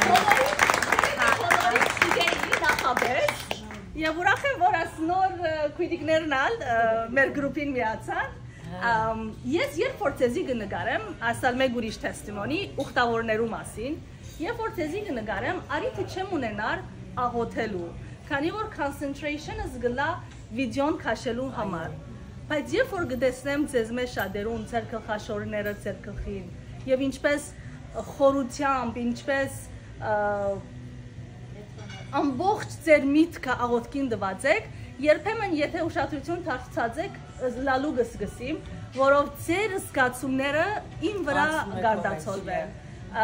Բոլորիդ, բոլորիդ, նախապես։ Եվ ուրախ եմ, որ աս նոր, ը, քույրիկներն ալ, ը, մեր գրուպին միացան։ Ամ, ես երբ որ ձեզի կը նկարեմ, ասալ մեկ ուրիշ testimony, ուխտավորներու մասին, երբ որ ձեզի կը նկարեմ, արիթը չեմ ունենար աղոթելու, քանի որ concentration-ս գլա վիդեոն քաշելու համար։ Բայց երբ որ կտեսնեմ ձեզ մեջ շատերուն, ձեր գլխաշորները ձեր գլխին, եւ ինչպես խորությամբ, ինչպես, ը, ամբողջ ձեր միտքը աղոթքին տված եք, երբեմն եթե ուշադրություն դարձած եք, լալու կսկսիմ, որով ձեր զգացումները իմ վրա Ածում է գարդացոլվեն։ Ա,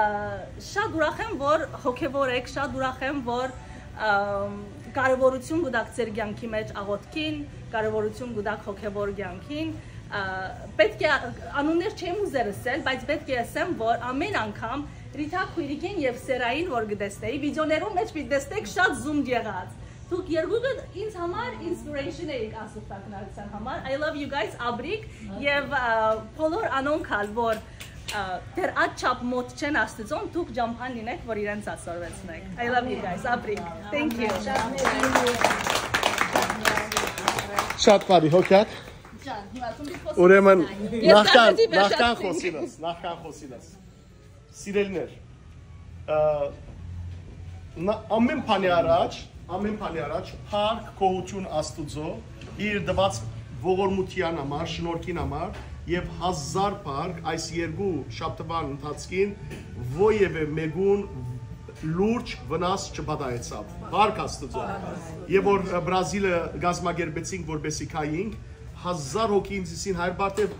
շատ ուրախ եմ, որ հոգևոր եք, շատ ուրախ եմ, որ, ամ, կարևորություն կուտակ ձեր կյանքի մեջ աղոթքին, կարևորություն կուտակ հոգևոր կյանքին։ Ա, պետք է անուններ չեմ ուզեր ասել, բայց պետք է ասեմ, որ ամեն անգամ Ռիթա Քուիրիկին եւ Սերային որ կտեսնեի, վիդեոներուն մեջ պիտի տեսնեք շատ զում եղած։ Դուք երկուքը ինձ համար inspiration էիք ասուխտագնացության համար։ I love you guys, Աբրիկ, եւ, ա, բոլոր անոնք ալ, որ, ա, դեռ այդ չափ մոտ չեն Աստծուն, դուք ճամփան լինեք, որ իրենց ասորվեցնեք։ I love you guys, Աբրիկ։ Thank you։ Շատ բարի, հոգեակ։ Ուրեմն, Ես նախքան, դարձի նախքան վերջացնի։ խոսինս, նախքան խոսինս։ Սիրելիներ, ը, նա, ամեն բանի առաջ, ամեն բանի առաջ, փառք գոհություն Աստուծո, իր տված ողորմութեան համար, շնորհքին համար, եւ հազար փառք այս երկու շաբթուան ընթացքին ովեւէ մեկուն լուրջ վնաս չպատահեցաւ։ Փառք Աստուծո։ Եւ որ, ը, Բրազիլը կազմակերպեցինք, որպեսի գայինք, հազար հոգի ինձ ըսին, հայր Բարթեւ,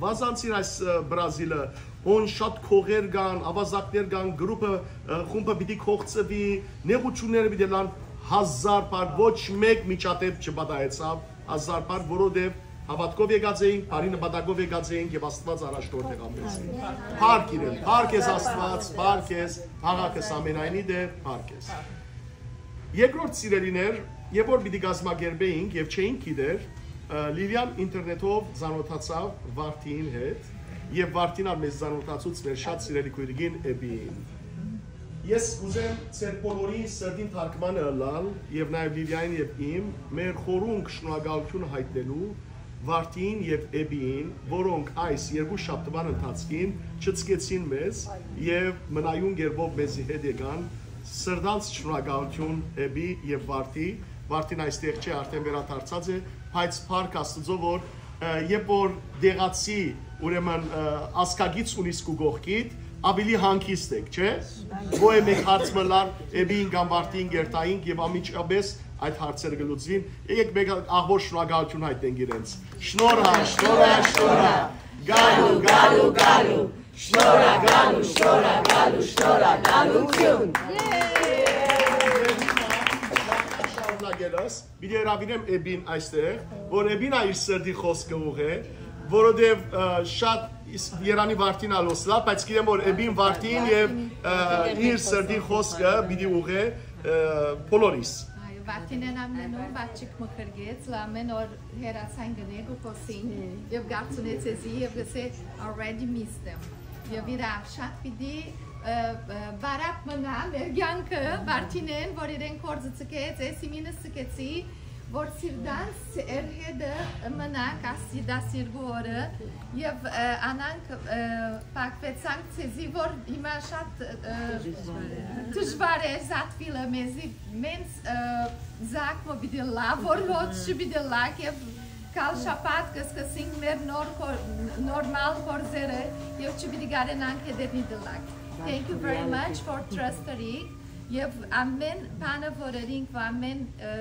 վազանցիր այս, ը, Բրազիլը, հոն շատ քողեր կան, ավազակներ կան, գրուպը, ը, խումբը պիտի կողծվի, նեղությունները պիտի լան, հազար փառք, ոչ մեկ միջադեպ չպատահեցաւ, հազար փառք, որովհետեւ հավատքով եկած էինք, բարի նպատակով եկած էինք եւ Աստուած առաջնորդ եղավ մեզ։ Փառք իրեն, փառք ես Աստուած, փառք ես, փաղաքս ամենայնի դեր, փառք ես։ Երկրորդ, սիրելիներ, երբ որ պիտի կազմակերպեինք եւ չէինք գիտեր, ը, Լիլիան ինտերնետով ծանոթացաւ Վարդին հետ, եւ Վարդին ալ մեզ ծանոթացուց մեր շատ սիրելի քույրիկին Էբիին։ Ես կուզեմ ձեր բոլորին սրտին թարգմանը ըլլալ եւ նաեւ Լիլիային եւ իմ, մեր խորունկ շնորհակալությունը հայտնելու Վարդին եւ Էբիին, որոնք այս երկու շաբթուան ընթացքին չցկեցին մեզ եւ մնայուն կերպով մեզի հետ եկան, սրտանց շնորհակալություն Էբի եւ Վարդի, Վարդին այստեղ չէ, արդեն վերադարձած է, բայց փառք Աստուծո, որ, ը, երբ որ դեղացի, ուրեմն, ը, ազգագից ունիս քու կողքիդ, ավելի հանգիստ եք, չէ՞։ Գոյ է մեկ հարց մը լար, Էբին կամ Վարդին կերտայինք եւ անմիջապես այդ հարցերը կլուծվին։ Եկեք մեկ ահոր շնորհակալություն հայտնենք իրենց։ Շնորհա, շնորհա, շնորհա։ Գալու, գալու, գալու։ Շնորհա, գալու, շնորհա, գալու, շնորհա, գալու, գալու։ Ելս, պիտի հրավիրեմ Էբին այստեղ, որ Էբին ա իր սրտի խոսքը ուղղէ, որովհետեւ, ը, շատ իս-, երանի Վարդին ալ օսլա, բայց գիտեմ որ Էբին Վարդին եւ, ը, իր սրտի խոսքը պիտի ուղղէ, ը, բոլորիս։ Այո, Վարդինեն ամեն օր բաճիկ մը կրկեց, լա ամեն օր հեռացան գնե գու խոսին, եւ գարցունեցեզի, եւ գսե, "I already missed them." Եւ իրա շատ պիտի, ը, ը, բարապ մնայ մեր կյանքը, Վարդինեն, որ իրեն կորձը ցկեց, էս իմինս ցկեցի, որ սիրտանց էր հետը մնաք աս յետաս երկու օրը, եւ, ը, անանք, ը, պակվեցանք ցեզի, որ հիմա շատ, ը, դժվար է զատվիլը մեզի, մենց, ը, զակ մը պիտի լա, որ ոչ պիտի լա, եւ կալ շաբաթ կը սկսենք մեր նոր կոր-, նորմալ կորձերը, եւ չպիտի կարենանք հետերնի դլակ։ Thank you very much for trusting. Եւ ամեն բանը որ ըրինք, որ ամեն, ը,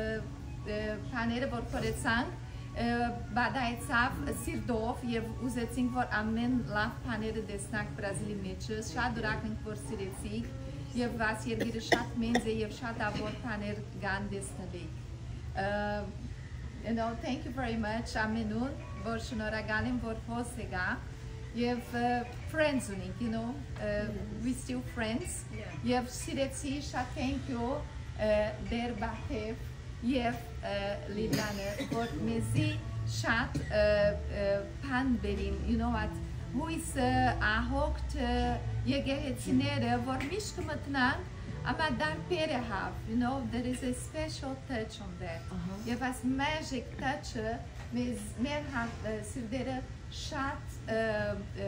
ը, բաները որ կորեցանք, ը, բադայեցաւ սիրտով, եւ ուզեցինք որ ամեն լավ բաները տեսնանք Բրազիլի մեջը, շատ ուրախ ենք որ սիրեցիք, եւ աս երկիրը շատ մենձ է, եւ շատ ավոր բաներ կան տեսնելիք։ Ը, you know, thank you very much ամենուն, որ շնորհակալ եմ որ հոս եկա, եւ, ը, friends ունենք, you know, ը, we still friends, եւ սիրեցի շատ, thank you, ը, Դեր Բաթեւ եւ, ը, Լիլիանը, որ մեզի շատ, ը, ը, բան բերին, you know what, հույսը, ահոգ, ը, եկեղեցիները, որ միշտ մտնանք, ամա դարբերը հաւ, you know, there is a special touch on that. Ահա։ Եւ այս magic touch-ը մեզ, մեր հա-, ը, սիրտերը շատ, ը, ը,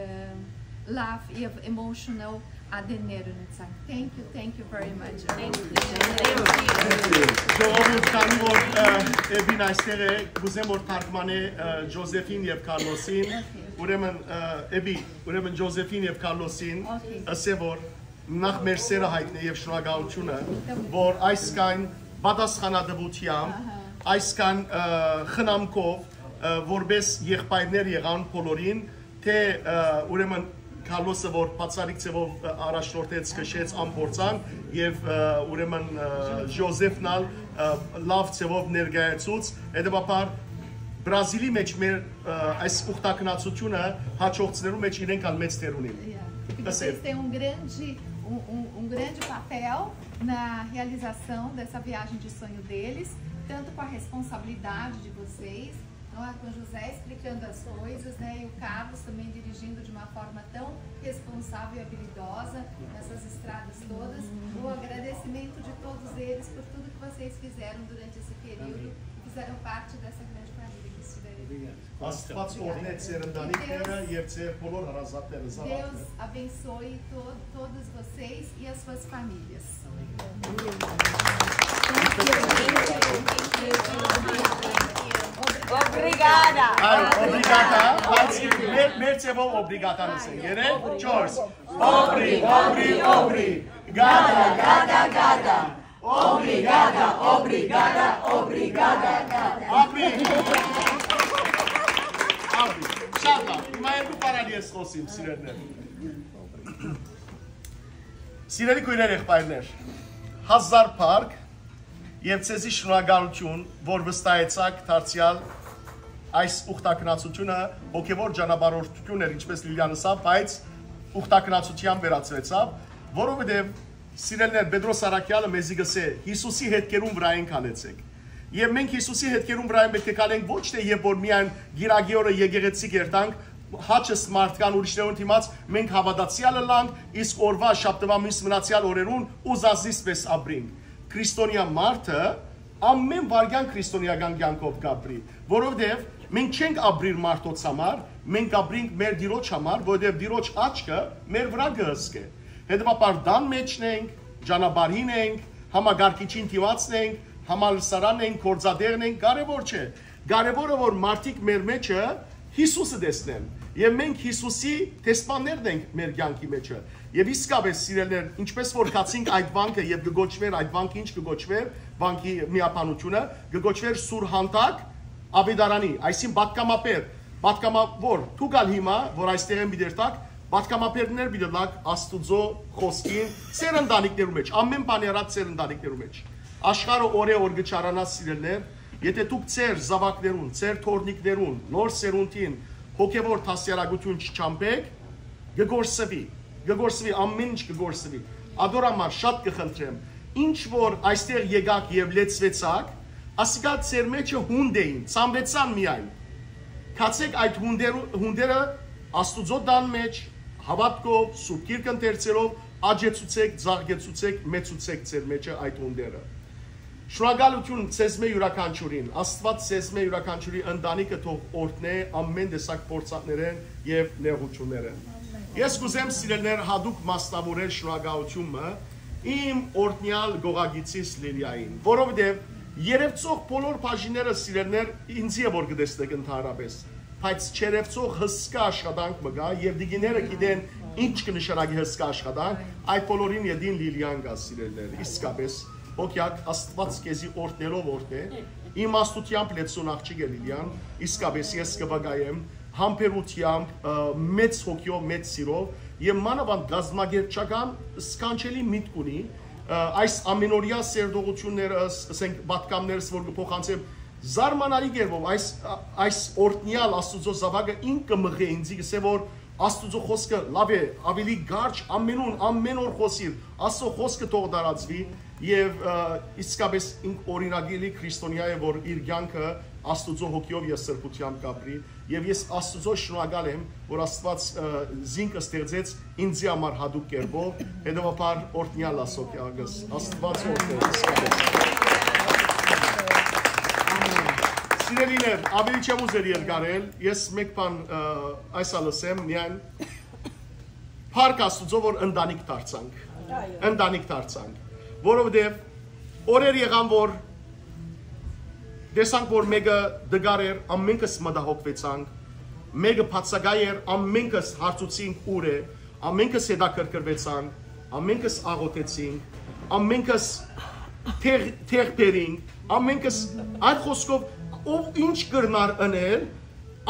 լավ եւ emotional ատեններ ունեցանք։ Thank you, thank you very much. Thank you. Ժողովուրդ, քանի որ, ը, Էբին այստեղ է, կուզեմ որ թարգմանէ, ը, Ջոզեֆին եւ Քարլոսին, ուրեմն, ը, Էբի, ուրեմն Ջոզեֆին եւ Քարլոսին, Okay. ըսե որ նախ մեր սերը հայտնէ եւ շնորհակալությունը, որ այսքան պատասխանատվությամբ, Ահա։ այսքան, ը, խնամքով, ը, որպես եղբայրներ եղան բոլորին, թե, ը, ուրեմն Քարլոսը, որ բացառիկ ձևով, ը, առաջնորդեց, քշեց, ամփորձան, եւ, ը, ուրեմն, ը, Ժոզեֆն ալ, ը, լավ ձևով ներկայացուց, հետեւաբար Բրազիլի մեջ մեր, ը, այս ուխտագնացությունը հաջորդներու մեջ իրենք ալ մեծ դեր ունին։ Yeah. Ըսել։ Este un grande, um, um, um grande papel na realização dessa viagem de sonho deles, tanto com a responsabilidade de vocês, não é, com José explicando as coisas, né, e o Carlos também dirigindo de uma forma tão responsável e habilidosa nessas estradas todas. O agradecimento de todos eles por tudo que vocês fizeram durante esse período e fizeram parte dessa grande família que estiveram aqui. Աստուած օրհնեց ձեր ընտանիքները եւ ձեր բոլոր հարազատները, զաւակները։ Deus abençoe to-, todos vocês e as suas famílias. Obrigada. Այո, օբրիգատա, բայց մեր, մեր ձևով օբրիգատան ասենք, երեք, չորս։ Օբրի, օբրի, օբրի, գադա, գադա, գադա։ Օբրիգատա, օբրիգատա, օբրիգատա, գադա։ Ապրի։ Ապրի։ Շատ լավ։ Հիմա երկու բառ ալ ես խոսիմ, սիրելիներ։ Սիրելի քոյրեր, եղբայրներ, հազար փառք եւ ձեզի շնորհակալություն, որ վստահեցաք դարձեալ այս ուխտագնացությունը, հոգեվոր ճանապարհորդություն էր, ինչպես Լիլիան ըսաւ, բայց ուխտագնացության վերածվեցաւ, որովհետեւ, սիրելիներ, Պետրոս Առաքյալը մեզի գսէ. "Յիսուսի հետքերուն վրայ քալեցեք"։ Եւ մենք Յիսուսի հետքերուն վրայ պետք է քալենք ոչ թե երբ որ միայն գիրագի օրը եկեղեցի կերտանք, հաճս մարդկան ուրիշներուն դիմաց մենք հավատացյալը լանք, իսկ օրվա շաբթվա մյուս մնացեալ օրերուն ուզածնից պես ապրենք։ Քրիստոնեայ մարդը ամեն վայրկյան քրիստոնեական կյանքով կապրի, որովհետեւ մենք չենք ապրիր մարդոց համար, մենք ապրինք մեր Տիրոջ համար, որովհետեւ Տիրոջ աչքը մեր վրայ կը հսկէ։ Հետեւաբար տան մեջն ենք, ճանապարհին ենք, համակարգիչին դիմացն ենք, համալսարանն ենք, գործատեղն ենք, կարեւոր չէ։ Կարեւորը որ մարդիկ մեր մեջը Յիսուսը տեսնեն, եւ մենք Յիսուսի դեսպաններն ենք մեր կյանքի մեջը։ Եւ իսկապես, սիրելիներ, ինչպես որ գացինք այդ վանքը եւ կը կոչվեր, այդ վանքը ինչ կը կոչվեր, վանքի միաբանությունը կը կոչվեր Սուրհանդակ Աբեդարանի, այսինքն պատգամաբեր, պատգամավոր, դուք ալ հիմա որ այստեղ են պիտի երթաք, պատգամաբերներ պիտի լաք Աստուծո խոսքին, ձեր ընտանիքներու մեջ, ամեն բանի առաջ ձեր ընտանիքներու մեջ։ Աշխարհը օրէ օր կը չարանայ, սիրելիներ, եթէ դուք ձեր զաւակներուն, ձեր թոռնիկներուն, նոր սերունդին հոգեւոր դաստիարակութիւն չճամբէք, կը կորսուի, կը կորսուի, ամէն ինչ կը կորսուի։ Ատոր համար շատ կը խնդրեմ, ինչ որ այստեղ եկաք եւ լեցուեցաք, ասիկա ձեր մեջը հունդ էին, ցանուեցան միայն։ Գացէք այդ հունդերու-, հունդերը Աստուծոյ տան մէջ, հաւատքով, Սուրբ Գիրք ընթերցելով, աճեցուցէք, ծաղկեցուցէք, մեծուցէք ձեր մեջը այդ հունդերը։ Շնորհակալութիւն ձեզմէ իւրաքանչիւրին։ Աստուած ձեզմէ իւրաքանչիւրի ընտանիքը թող օրհնէ ամէն տեսակ փորձանքներէն եւ նեղութիւններէն։ Ես կ'ուզեմ, սիրելիներ, յատուկ մասնաւորել շնորհակալութիւնը իմ օրհնեալ կողակիցիս Լիլիային, որովհետեւ երեւցող բոլոր բաժինները, սիրելիներ, ինծի է որ կը տեսնեք ընդհանրապես, բայց չերեւցող հսկայ աշխատանք մը կայ եւ տիկինները գիտեն ինչ կը նշանակի հսկայ աշխատանք, այդ բոլորին ետին Լիլիան կայ, սիրելիներ, իսկապես հոգեակ, Աստուած քեզի օրհնելով օրհնէ, իմաստութեամբ լեցուն աղջիկ է Լիլիան, իսկապես ես կը վկայեմ, համբերութեամբ, ը, մեծ հոգիով, մեծ սիրով եւ մանաւանդ կազմակերպչական սքանչելի միտք ունի, ը, այս ամենօրյա սերտողութիւնները, ս-, ասենք, պատգամներս որ կը փոխանցեմ, զարմանալի կերպով այս, ա, այս օրհնեալ Աստուծոյ զաւակը ինք կը մղէ ինձի, կ'ըսէ որ Աստուծոյ խօսքը լաւ է, աւելի կարճ, ամենուն, ամեն օր խօսիր, Աստուծոյ խօսքը թող տարածուի եւ, ը, իսկապես ինք օրինակելի քրիստոնեայ է, որ իր կեանքը Աստուծոյ հոգիով եւ սրբութեամբ կապրի եւ ես Աստուծոյ շնորհակալ եմ, որ Աստուած, ը, զինք ստեղծեց ինձի համար յատուկ կերպով, հետեւաբար օրհնեալ ասոք յագս, Աստուած օրհնե, իսկապես։ Սիրելիներ, աւելի չեմ ուզեր երկարել, ես մեկ բան, ը, այս ալ ասեմ, միայն փառք Աստուծոյ, որ ընտանիք դարձանք, ընտանիք դարձանք, որովհետեւ օրեր եղան, որ տեսանք, որ մէկը տկար էր, ամենքս մտահոգուեցանք, մէկը բացակայ էր, ամենքս հարցուցինք՝ ուր է, ամենքս հետաքրքրուեցանք, ամենքս աղօթեցինք, ամենքս թեղ, թեղ բերինք, ամենքս, այլ խօսքով, ով ինչ կրնար ընել,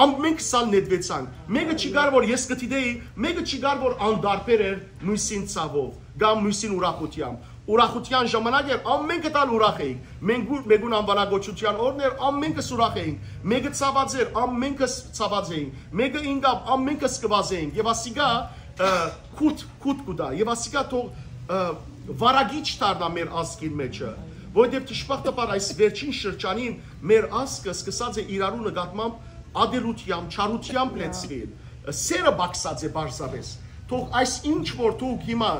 ամենքս ալ նետուեցանք։ Մէկը չի գար, որ ես կը դիտէի, մէկը չի գար, որ անտարբեր էր նոյնսին ցաւով կամ նոյնսին ուրախութեամբ։ Ուրախութեան ժամանակ էր, ամենքը տալ ուրախ էինք։ Մենգու-, մեկուն անվանակոչութեան օրն էր, ամենքս ուրախ էինք։ Մեկը ցաված էր, ամենքս ցաված էինք։ Մեկը ինկապ, ամենքս կը վազէինք։ Եւ ասիկա, ը, քութ, քութ կու տայ։ Եւ ասիկա թող, ը, վարագիչ դառնայ մեր ազգին մեջը, որովհետեւ դժբախտաբար այս վերջին շրջանին մեր ազգը սկսած է իրարու նկատմամբ ատելությամբ, չարությամբ լեցուիլ, սերը պակսած է պարզապէս։ Թող այս ինչ որ դուք հիմա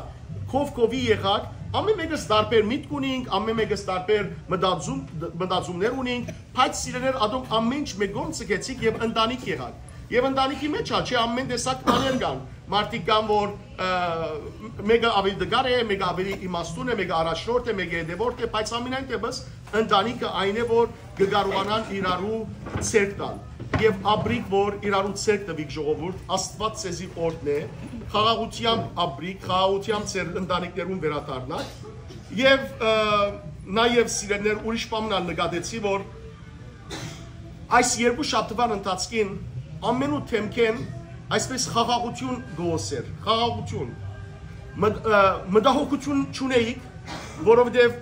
քով քովի եղաք, ամեն մեկս տարբեր միտք ունինք, ամեն մեկս տարբեր մտածում, մտածումներ ունինք, բայց սիրելիներ, ատոնք ամեն ինչ մէկ կողմ ձգեցիք եւ ընտանիք եղաք։ Եւ ընտանիքի մեջ հա, չէ, ամեն տեսակ բաներ կան, մարդիկ կան, որ, ը, մեկը ավելի տկար է, մեկը ավելի իմաստուն է, մեկը առաջնորդ է, մեկը հետեւորդ է, բայց ամենայն դեպս ընտանիքը այն է, որ կը կարողանան իրարու ձեռք տալ։ Եւ ապրիք, որ իրարու ձեռք տուիք, ժողովուրդ, Աստուած ձեզի օրհնէ, խաղաղութեամբ ապրիք, խաղաղութեամբ ձեր ընտանիքներուն վերադառնաք։ Եւ, ը, նաեւ, սիրելիներ, ուրիշ բան ալ նկատեցի, որ այս երկու շաբթուան ընթացքին ամենու դէմքէն այսպես խաղաղութիւն գոհսեր, խաղաղութիւն։ Մտ-, ը, մտահոգութիւն չունեիք, որովհետեւ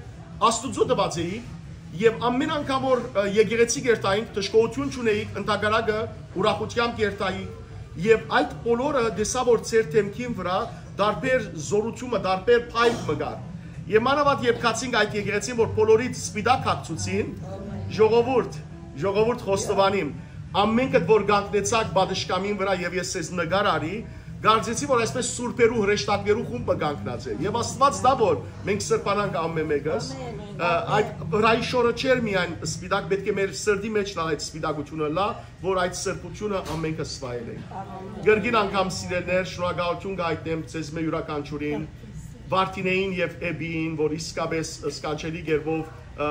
Աստուծոյ տուած էիք, եւ ամեն անգամ որ, ը, եկեղեցի կերտայինք, դժգոհութիւն չունեիք, ընդհակառակը ուրախութեամբ կերտայիք, եւ այդ բոլորը տեսա, որ ձեր դէմքին վրա տարբեր զորութիւնը, տարբեր փայլ մը կար։ Եւ մանաւանդ երբ գացինք այդ եկեղեցին, որ բոլորիդ սպիտակ հագցուցին, ժողովուրդ, ժողովուրդ խոստովանիմ, ամենքդ որ կանգնեցաք պատշգամին վրա եւ ես ձեզ նկար արի, կարծեցի, որ այսպես սուրբերու հրեշտակներու խումբը կանգնած է։ Եւ Աստուած տայ, որ մենք սրբանանք ամեն մեկս, ը, այդ հրայի շորը չէր միայն սպիտակ, պէտք է մեր սրտի մեջ ալ այդ սպիտակութիւնը լա, որ այդ սրբութիւնը ամենքս վայելենք։ Կրկին անգամ, սիրելիներ, շնորհակալութիւն կայտնեմ ձեզմէ իւրաքանչիւրին, Վարդինեին եւ Էբիին, որ իսկապես սքանչելի կերպով, ը,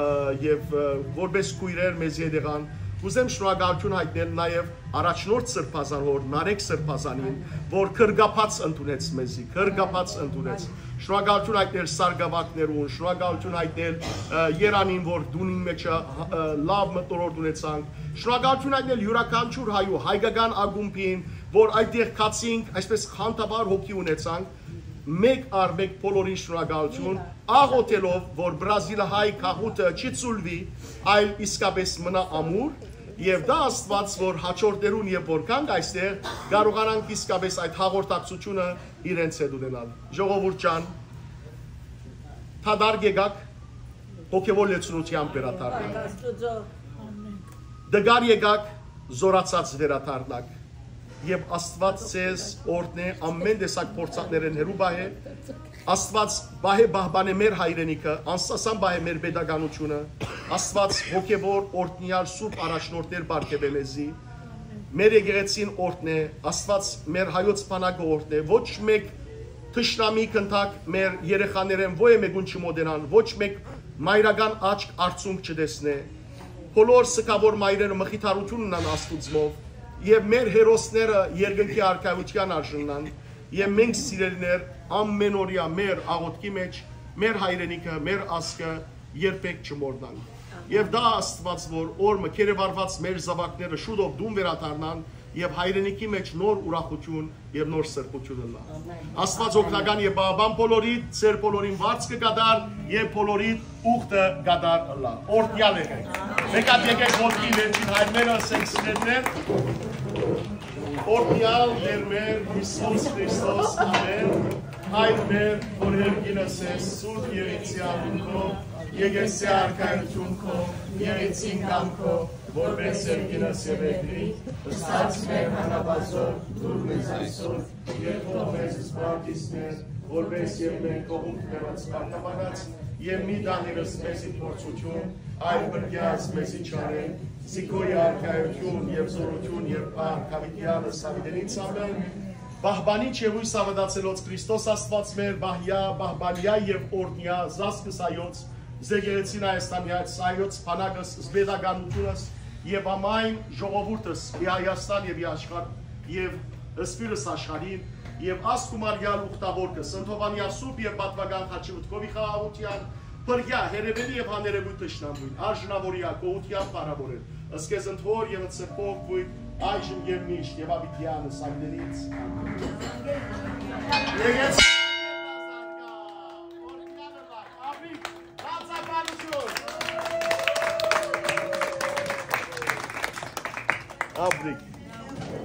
եւ, ը, որպես քոյրեր մեզի հետ եղան։ Կ'ուզեմ շնորհակալութիւն յայտնել նաեւ առաջնորդ սրբազան հօր Նարեկ սրբազանին, որ գրկաբաց ընդունեց մեզի, գրկաբաց ընդունեց։ Շնորհակալութիւն յայտնել սարկավագներուն, շնորհակալութիւն յայտնել, ը, Երանին, որ տունին մեջը, ը, լաւ մթնոլորտ ունեցանք։ Շնորհակալութիւն յայտնել իւրաքանչիւր հայու, հայկական ակումբին, որ այդտեղ գացինք, այսպես խանդավառ հոգի ունեցանք։ Մեկ առ մեկ բոլորին շնորհակալութիուն, աղօթելով, որ բրազիլահայ գաղութը չի ցուլուի, այլ իսկապէս մնայ ամուր, եւ դա Աստուած, որ հաջորդներուն, երբ որ գանք այստեղ, կարողանանք իսկապէս այդ հաղորդակցութիւնը իրենց հետ ունենալ։ Ժողովուրդ ջան, դադար եկաք, հոգեւոր լեցունութեան վերադառնանք։ Տկար եկաք, զորացած վերադառնաք, եւ Աստուած ձեզ օրհնէ, ամեն տեսակ փորձանքներէն հեռու պահէ։ Աստուած պահէ պահպանէ մեր հայրենիքը, անսասան պահէ մեր պետականութիւնը։ Աստուած հոգեւոր, օրհնեալ, սուրբ առաջնորդներ պարգեւէ մեզի, մեր եկեղեցին օրհնէ, Աստուած մեր հայոց բանակը օրհնէ, ոչ մէկ թշնամի, գնդակ մեր երեխաներէն ոյ մէկուն չմոտենան, ոչ մէկ մայրական աչք արցունք չտեսնէ։ Բոլոր սգաւոր մայրերը մխիթարութիւն ունան Աստուծմով, եւ մեր հերոսները երկնքի արքայութեան արժանանան, եւ մենք, սիրելիներ, ամեն օրեայ մեր աղօթքի մէջ մեր հայրենիքը, մեր ազգը երբեք չմոռնանք։ Եւ դա Աստուած, որ օր մը գերեվարուած մեր զաւակները շուտով տուն վերադառնան եւ հայրենիքի մէջ նոր ուրախութիւն եւ նոր սրբութիւն ըլլայ։ Աստուած օգնական եւ պահապան բոլորիդ, ձեր բոլորին վարձ կը կատարէ եւ բոլորիդ ուխտը կատարէ ըլլայ։ Օրհնեալ եղէք։ Մէկ հատ եկէք ոտքի վերջին հայրերը, ասենք, սիրելիներ։ Օրհնեալ Տէր մեր Յիսուս Քրիստոս, ամէն։ Հայր մեր, որ երկինս ես, սուրբ եղեցի անունքով, եկեցի արքայություն քո, եղեցին կամքով, որպես երկինս եւ երկրի, ըսած մեր հանապազով, դուր մեզ այսօր, եւ թող մեզ սպարտիսներ, որպես եւ մենք կողում դրած սպարտապանած, եւ մի դանիրս մեզի փորձութիւն, այլ բրկեաց մեզի չարէն, զի քո արքայություն եւ զորություն եւ փառք, հավիտեալս, հավիտենից ամէն։ Պահպանիչ եւ յոյս ավետացելոց Քրիստոս Աստուած մեր, պահեա, պահպանեա եւ օրհնեա զազգս հայոց, զեկեղեցին Հայաստանեայց, հայոց բանակս, զպետականութիւնս եւ ամայն ժողովուրդս, ի Հայաստան եւ ի աշխարհ, եւ սփիւռս աշխարհին, եւ ազգ ու մարմնեալ ուխտաւոր կը սնթովանեա սուրբ եւ պատուական խաչի մտքովի խաղաղութեան, բրկեա հեռեւելի եւ հաներեւոյթ թշնամուին, արժանաւորեա գոհութեան փառաւորել, ըսկեզ ընդ հօր եւ ընդ սրբով քոյր, այժմ եւ միշտ, եւ աբիդեանս անգերից։ Եկեցի։ Աբրիկ։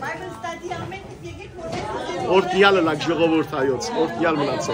Bible study ամեն ինչ եկեք, որ Օրհնեալ ըլլաք ժողովուրդ հայոց, օրհնեալ մնացեք։